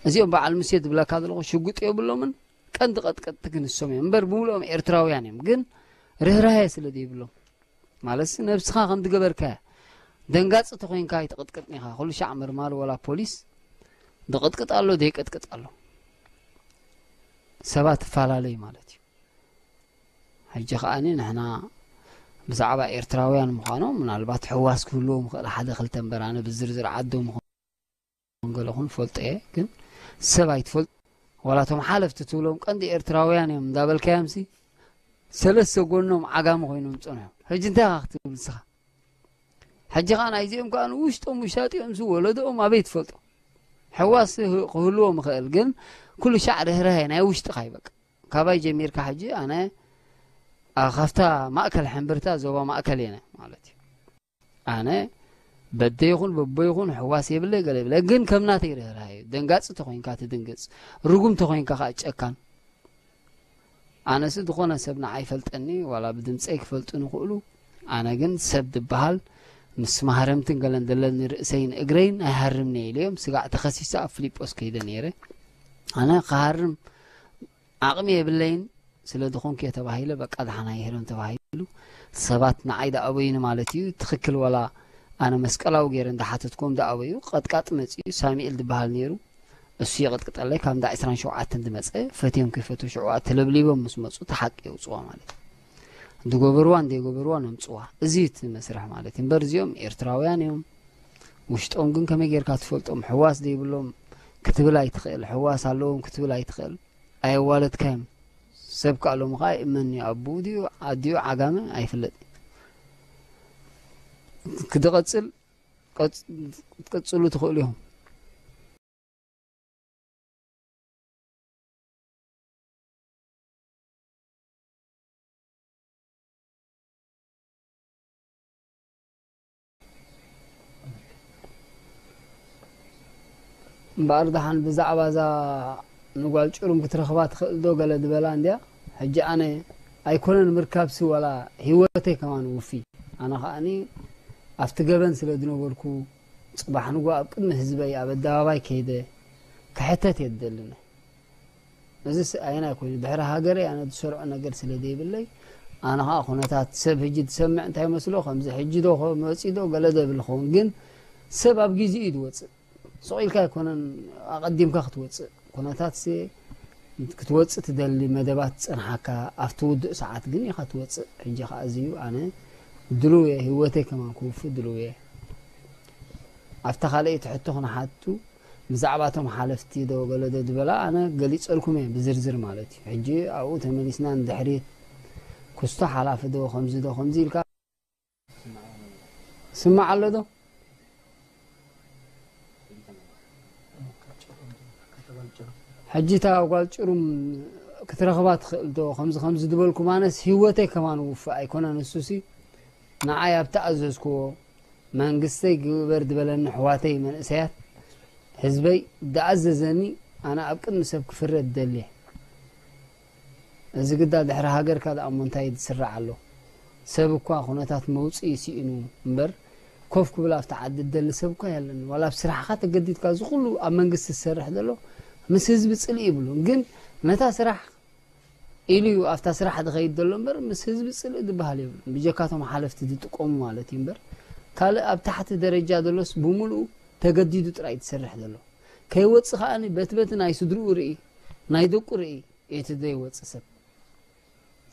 እዚኦም በዓል ሙሴ ዝብለካ ዘለኹ ሽጉጥ የብሎምን። ቀንዲ ቀጥቀጥቲ ግን እሶም እዮም እምበር ብምልኦም ኤርትራውያን እዮም። ግን ርህራሄ ስለ ዘይብሎም ማለት ነብስኻ ከም ዝገበርካያ ደንጋፂ ተኮይንካ ኣይትቕጥቅጥን ኢኻ። ኩሉ ሻዕ መርማሪ ወላ ፖሊስ ዝቕጥቅጥ ኣሎ ዘይቅጥቅጥ ኣሎ። ሰባት ትፈላለዩ ማለት እዩ። ሕጂ ከዓኒ ንሕና ብዛዕባ ኤርትራውያን ምዃኖም ምናልባት ሕዋስ ክህልዎም ይኽእል ሓደ ክልተ እምበር ኣነ ብዝርዝር ዓዶም ይኹን ገለኹን ፈልጦ እየ ግን ሰብ ኣይትፈልጡ ዋላ እቶም ሓለፍቲ ትብሎም ቀንዲ ኤርትራውያን እዮም እንዳበልካዮምሲ ሰለስተ ጎኖም ዓጋሚ ኮይኖም ዝፀንሑ ሕጂ እንታይ ኢኻ ክትብል ንስኻ ሕጂ ከዓ ናይዚኦም ከዓ ንውሽጦም ውሻጢኦም ሲ ወለዶኦም ኣበይ ትፈልጦ ሕዋስ ክህልዎም ይኽእል ግን ኩሉ ሻዕ ርህራሄ ናይ ውሽጥኻ ይበቃ ካባይ ጀሚርካ ሕጂ ኣነ ካብታ ማእከል ሕምብርታ ዞባ ማእከል እየ ማለት እዩ ኣነ በደ ይኹን በቦ ይኹን ሕዋስ የብለ ገለ የብለ ግን ከም ናተይ ርህራሄ እዩ ደንጋፂ ተኮይንካ ትድንግፅ ርጉም ተኮይንካ ከዓ ጨካን ኣነሲ ዝኾነ ሰብ ንዓይ ይፈልጠኒ ዋላ ብድምፀይ ክፈልጡ ንኽእሉ ኣነ ግን ሰብ ዝበሃል ምስ ማህረምትን ገለን ዘለኒ ርእሰይን እግረይን ኣይሃርምኒ ኢለዮም ስጋዕ ተኸሲሰ ኣብ ፍሊጶስ ከይደ ነይረ ኣነ ክሃርም ዓቕሚ የብለይን ስለ ዝኾንኩ እየ ተባሂለ በቃ ደሓና ይሄዶም ተባሂሉ ሰባት ንዓይ ደኣበዩኒ ማለት እዩ ትኽክል ወላ ኣነ መስቀላዊ ገይረ እንዳሓተትኩም ደኣበዩ ቀጥቃጥ መፅኡ ሳሚኤል ዝበሃል ነይሩ እሱ የቐጥቅጠለይ ካብ እንዳ ዕስራን ሸውዓተን ዝመፀ ፈትዮም ከይፈትው ሽዑ ተለብሊቦም ምስ መፁ እቲ ሓቂ የውፅዋ ማለት እዩ ዝገበርዋ እንደይገበርዋ ነምፅዋ እዚ እቲ መስርሕ ማለት እዩ እምበር እዚኦም ኤርትራውያን እዮም ውሽጦም ግን ከመይ ጌርካ ትፈልጦም ሕዋስ ዘይብሎም ክትብል ኣይትኽእል ሕዋስ ኣለዎም ክትብል ኣይትኽእል ኣየዋለድካዮም ሰብ ከዓ ሎሚ ከዓ ይእመን እዩ ኣቡኡ ድዩ ኣዲኡ ዓጋመ ኣይፍለጥ ክድቐፅል ክትቅፅሉ ትኽእሉ ኢኹም እምበኣር ደሓን ብዛዕባ እዛ ንጓል ጭሩም ክትረኽባ ትኽእል ዶ ገለ ዝበላ እንድያ ሕጂ ኣነ ኣይኮነን ምርካብሲ ዋላ ህይወተይ ከማን ውፊ ኣነ ከዓኒ ኣብቲ ገበን ስለ ዝነበርኩ ጽባሕ ንጎ ኣብ ቅድሚ ህዝበይ ኣብ ኣደባባይ ከይደ ክሕተት እየ ዝደሊ እዚስ ኣየናይ ኮይኑ ድሕሪ ሃገረይ ኣነ ዝሰርዖ ነገር ስለ ዘይብለይ ኣነ ከዓ ኩነታት ሰብ ሕጂ ትሰምዕ እንታይ መስሎ ከምዚ ሕጂ ዶ መፂ ዶ ገለ ዶ ይብል ኸውን ግን ሰብ ኣብ ግዜኡ እዩ ዝወፅእ። ስቕ ኢልካ ኣይኮነን ኣቐዲምካ ክትወፅእ። ኩነታት ክትወፅእ ትደሊ መደባት ፀንሓካ ኣብቲ ውዱእ ሰዓት ግን ኢኻ ትወፅእ። ሕጂ ከዓ እዚ እዩ። ኣነ ድልው እየ፣ ህይወተይ ከማን ክውፍእ ድልው እየ። ኣብታ ካልኣይቲ ሕቶ ክንሓቱ ብዛዕባ እቶም ሓለፍቲ ዶ ገለ ዶ ዝበላ ኣነ ገሊፀልኩም እየ ብዝርዝር ማለት እዩ። ሕጂ ኣብኡ ተመሊስና ንድሕሪት ክስቶ ሓላፊ ዶ ከምዚ ዶ ከምዚ ኢልካ ስማዕ ኣሎ ዶ? ሕጂ እታ ጓል ጭሩም ክትረኽባ ትኽእል ዶ? ከምዚ ከምዚ ዝበልኩም ኣነስ ህይወተይ ከማን ውፍእ ኣይኮነን። እሱሲ ንዓይ ኣብ ተኣዘዝክዎ መንግስተይ ግበር ዝበለኒ ኣሕዋተይ መንእሰያት ህዝበይ ዝኣዘዘኒ ኣነ ኣብ ቅድሚ ሰብ ክፍረድ ደልየ። እዚ ግዳ ድሕሪ ሃገርካ ደኣ እሞ እንታይ ዝስራዕ ኣሎ? ሰብ እኳ ኩነታት መውፅኢ ስኢኑ እምበር ኮፍ ክብል ኣብቲ ዓዲ ዝደሊ ሰብ እኳ የለን። ዋላ ኣብ ስራሕኻ ተገዲድካ እዚ ኩሉ ኣብ መንግስቲ ዝሰርሕ ዘሎ ምስ ህዝቢ ፅልኢ ይብሉን ግን ነታ ስራሕ ኢሉ እዩ ኣብታ ስራሕ ዝኸይድ ዘሎ እምበር ምስ ህዝቢ ፅልኢ ዝበሃል የብሉን። ብጀካቶም ሓለፍቲ ዝጥቀሙ ማለት እዩ እምበር ካልእ ኣብ ታሕቲ ደረጃ ዘሎስ ብምሉኡ ተገዲዱ ጥራይ ትሰርሕ ዘሎ። ከይወፅእ ከኣኒ በቲ በቲ ናይ ስድርኡ ርኢ ናይ ደቁ ርኢ እቲ ዘይወፅእ ሰብ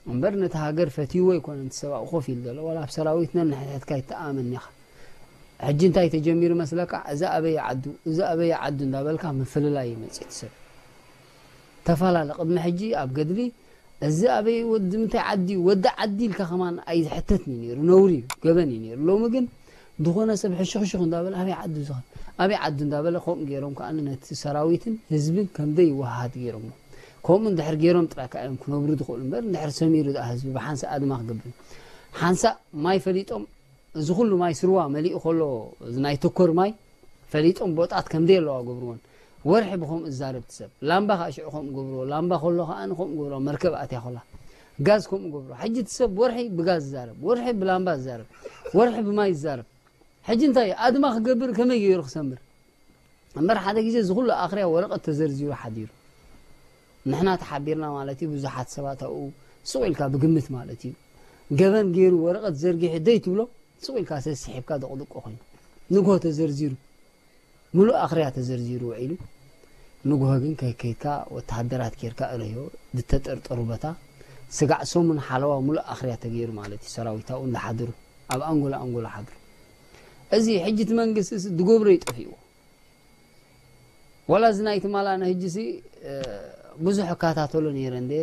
እምበር ነቲ ሃገር ፈትይዎ ኣይኮነን እቲ ሰብ ኣብኡ ኮፍ ኢሉ ዘሎ ዋላ ኣብ ሰራዊት ነንሕድሕድካ ይተኣመን ኢኻ። ሕጂ እንታይ ተጀሚሩ መስለካ? እዚ ኣበይ ዓዱ እዚ ኣበይ ዓዱ እንዳበልካ ምፍልላይ እዩ መፅእ እቲ ሰብ። ተፈላለ ቅድሚ ሕጂ ኣብ ገድሊ እዚ ኣበይ ወዲ ምንታይ ዓዲ እዩ ወዲ ዓዲ ኢልካ ከማን ኣይዝሕተትን እዩ ነይሩ፣ ነውሪ እዩ፣ ገበን እዩ ነይሩ። ሎሚ ግን ዝኾነ ሰብ ሕሹኽሹኽ እንዳበለ ኣበይ ዓዱ እዚ ኣበይ ዓዱ እንዳበለ ከምኡ ገይሮም ከዓ ነቲ ሰራዊትን ህዝብን ከምደይ ይወሃሃድ ገይሮሞ። ከምኡ እንድሕር ገይሮም ጥራይ ከዓ እዮም ክነብሩ ዝኽእሉ እምበር እንድሕር ሰሚሩ ደኣ ህዝቢ ብሓንሳእ ኣድማ ክገብር ሓንሳእ ማይ ፈሊጦም እዚ ኩሉ ማይ ስርዋ መሊኡ ከሎ እዚ ናይ ተኮር ማይ ፈሊጦም ቦጣት ከምደይ ኣለዋ ገብርዎን። ወርሒ ብኸምኡ ዝዛረብ እቲ ሰብ ላምባ ከዓ ሽዑ ከምኡ ገብርዎ ላምባ ከሎ ከዓ ከምኡ ገብርዎ መርከብ ኣትያ ከላ ጋዝ ከምኡ ገብርዎ። ሕጂ እቲ ሰብ ወርሒ ብጋዝ ዝዛረብ፣ ወርሒ ብላምባ ዝዛረብ፣ ወርሒ ብማይ ዝዛረብ። ሕጂ እንታይ ኣድማ ክገብር ከመይ ገይሩ ክሰምር? እምበር ሓደ ግዜ እዚ ኩሉ ኣኽርያ ወረቐት ተዘርዚሩ ሓዲሩ። ንሕና ተሓቢርና ማለት እዩ። ብዙሓት ሰባት ኣብኡ ስቕ ኢልካ ብግምት ማለት እዩ። ገበን ገይሩ ወረቐት ዘርጊሑ ደይ ትብሎ ስቕ ኢልካ ሰሲሒብካ ደቕድቆ ኮይኑ። ንግሆ ተዘርዚሩ። ሙሉእ ኣኽርያ ተዘርዚሩ ውዒሉ። ንግሆ ግን ከይከይድካ ወተሃደራት ጌርካ እለዮ ዝተጠርጠሩ ቦታ ስጋዕ ሰሙን ሓለዋ ሙሉእ ኣኽርያ ተገይሩ ማለት እዩ። ሰራዊት ኣብኡ እንዳሓድሩ ኣብ ኣንጎላ ኣንጎላ ሓድሩ። እዚ ሕጂ እቲ መንግስቲ ድገብሮ ይጠፊእዎ። ዋላ እዚ ናይ ትማል ኣነ ሕጂ ሲ ብዙሕ እከታተሎ ነይረ እንደ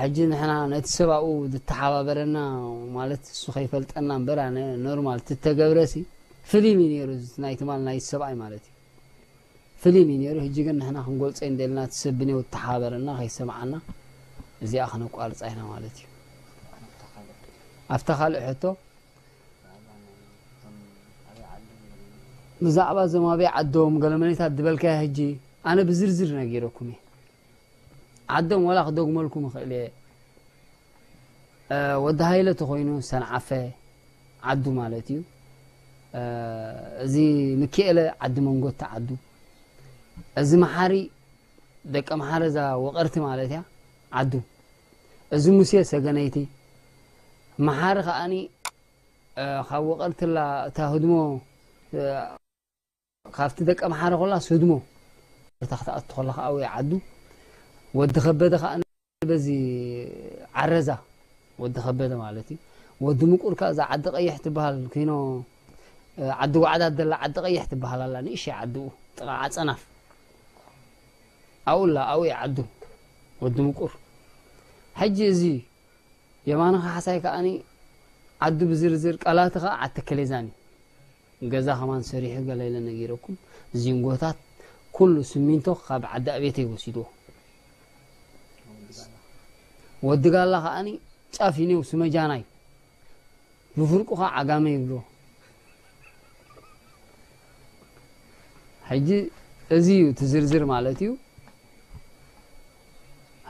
ሕጂ ንሕና ነቲ ሰብ ኣብኡ ዝተሓባበረና ማለት እሱ ከይፈልጠና እምበር ኣነ ኖርማል ትተገብረ ሲ ፍሊም እዩ ነይሩ። እዚ ናይ ትማል ናይ ሰብኣይ ማለት እዩ ፍሊም እዩ ነይሩ። ሕጂ ግን ንሕና ክንገልጾ እንደልና እቲ ሰብ ብኔው ተሓባበረና ከይሰምዓና እዚኣ ክነቋርጻ ኢና ማለት እዩ። ኣብታ ካልእ ሕቶ ብዛዕባ እዞም ኣበይ ዓዶም ገለ መኔታት ዝበልካዮ ሕጂ ኣነ ብዝርዝር ነጊረኩም እየ። ዓዶም ዋላ ክደግመልኩም ይኽእል እየ። ወዲ ሃይለ ተኾይኑ ሰንዓፈ ዓዱ ማለት እዩ። እዚ ምክኤለ ዓዲ መንጎቲ ዓዱ። እዚ መሓሪ ደቂ መሓረ እዛ ወቐርቲ ማለት እያ ዓዱ። እዚ ሙሴ ሰገነይቲ መሓሪ ከዓኒ ካብ ወቐርትላ እታ ህድሞ ካብቲ ደቀ መሓረ ኮላ ስድሞ እታ ክትኣቱ ኮላ ከዓ ወይ ዓዱ ወዲ ከበደ ከዓ በዚ ዓረዛ ወዲ ከበደ ማለት እዩ። ወዲ ምቁር ከዓ እዛ ዓዲ ቀይሕ ትበሃል ኪኖ ዓዲ ዋዕዳ ደላ ዓዲ ቀይሕ ትበሃል ኣላ ንእሽተይ ዓድኡ ጥቓ ዓፀናፍ ኣውላ ኣውይ ዓዱ ወዲ ምቁር። ሕጂ እዚ የማነ ካሕሳይ ከዓኒ ዓዱ ብዝርዝር ቃላቲ ከዓ ዓዲ ከሌዛን እዩ። ገዛ ከማን ሰሪሑ ገለ ኢለ ነጊረኩም። ዚንጎታት ኩሉ ስሚንቶ ካብ ዓዲ ኣቤተይ ወሲድዎ። ወዲ ጋላ ከዓኒ ጫፍ ይኔው ስመጃናይ ብፍርቁ ከዓ ዓጋመ ይብልዎ። ሕጂ እዚ እዩ እቲ ዝርዝር ማለት እዩ።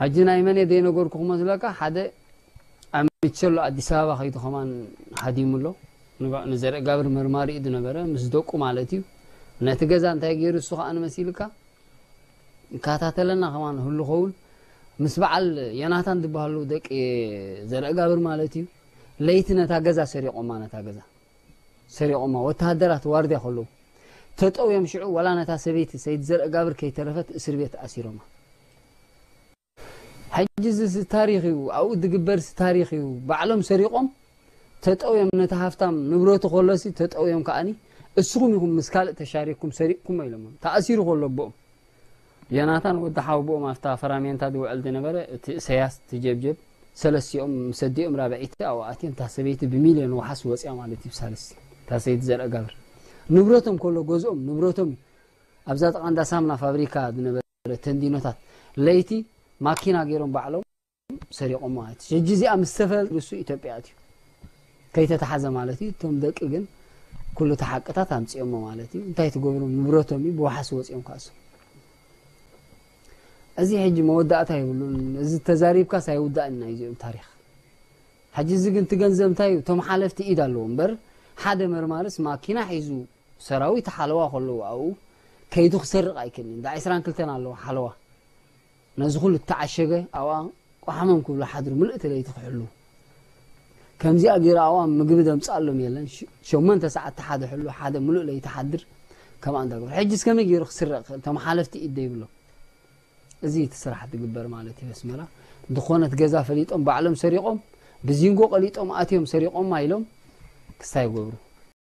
ሕጂ ናይ መን እየ ዘይነገርኩ ክመስለካ ሓደ ኣብ ሚቸሎ ኣዲስ ኣበባ ከይዱ ከማን ሃዲሙ ኣሎ። ንዘርኢ ጋብር መርማሪ እዩ ዝነበረ ምስ ደቁ ማለት እዩ። ነቲ ገዛ እንታይ ገይሩ እሱ ከዓ ንመሲልካ ይከታተለና ከማን ህሉ ኸውን ምስ በዓል የናታን ዝበሃሉ ደቂ ዘርኢ ጋብር ማለት እዩ። ለይቲ ነታ ገዛ ሰሪቆማ ነታ ገዛ ሰሪቖማ። ወተሃደራት ዋርድያ ከለዉ ተጠውዮም ሽዑ ዋላ ነታ ሰበይቲ ሰይድ ዘርእጋብር ከይተረፈት እስር ቤት ኣሲሮማ። ሕጂ እዚ ታሪኽ እዩ፣ ኣብኡ ዝግበር ታሪኽ እዩ። ባዕሎም ሰሪቖም ተጠውዮም ነቲ ሃፍታም ንብረቱ ከሎሲ ተጠውዮም ከኣኒ እስኹም ኢኹም ምስ ካልእ ተሻሪኩም ሰሪቕኩሞ ኢሎሞ። ተኣሲሩ ከሎ ኣቦኦም ዮናታን ወዲ ሓውቦኦም ኣብታ ፈራሜንታ ዝውዕል ዝነበረ እቲ እሰያስ ትጀብጀብ ሰለስቲኦም ምስ ኣዲኦም ራብዐይቲ ኣብኡ ኣትዮም እታ ሰበይቲ ብሚልዮን ወሓስ ወፅያ ማለት እዩ። ሳልስ እታ ሰይቲ ዘርአ ጋብር ንብረቶም ከሎ ገዝኦም ንብረቶም ኣብዛ ጥቓ እንዳ ሳምና ፋብሪካ ዝነበረ ተንዲኖታት ለይቲ ማኪና ገይሮም ባዕሎም ሰሪቖም ማለት እዩ። ሕጂ እዚኣ ምስ ተፈል ንሱ ኢትዮጵያ ኣትዩ ከይተተሓዘ ማለት እዩ። እቶም ደቂ ግን ኩሉ ተሓቅታት ኣምፅኦሞ ማለት እዩ። እንታይ ትገብሮም ንብረቶም እዩ ብወሓስ ወፂኦም ካእሶም። እዚ ሕጂ መወዳእታ የብሉን። እዚ ተዛሪብካስ ኣይውዳእን ናይ እዚኦም ታሪኽ። ሕጂ እዚ ግን እቲ ገንዘብ እንታይ እዩ? እቶም ሓለፍቲ ኢድ ኣለዎ እምበር ሓደ መርማርስ ማኪና ሒዙ ሰራዊት ሓለዋ ከለዉ ኣብኡ ከይዱ ክሰርቕ ኣይክእልን። እንዳ ዕስራን ክልተን ኣለዎ ሓለዋ። ነዚ ኩሉ እተዓሸገ ኣብኣ ቆሓሞም ክብሉ ሓድሩ ምልእቲ ለይቲ ክሕሉ። ከምዚኣ ገይሩ ኣብኣ ምግቢ ዘምፅኣሎም የለን። ሸሞንተ ሰዓት ሓደ ሕሉ ሓደ ምሉእ ለይቲ ሓድር ከምኣ እንዳገሩ። ሕጂ እስከመይ ገይሩ ክስረቕ ክእል? እቶም ሓለፍቲ ኢድ ዘይብሎም። እዚ እቲ ስራሕ ትግበር ማለት እዩ ኣስመራ። ዝኾነት ገዛ ፈሊጦም ባዕሎም ሰሪቖም ብዚንጎ ቀሊጦም ኣትዮም ሰሪቖማ ኢሎም ክስታይ ይገብሩ።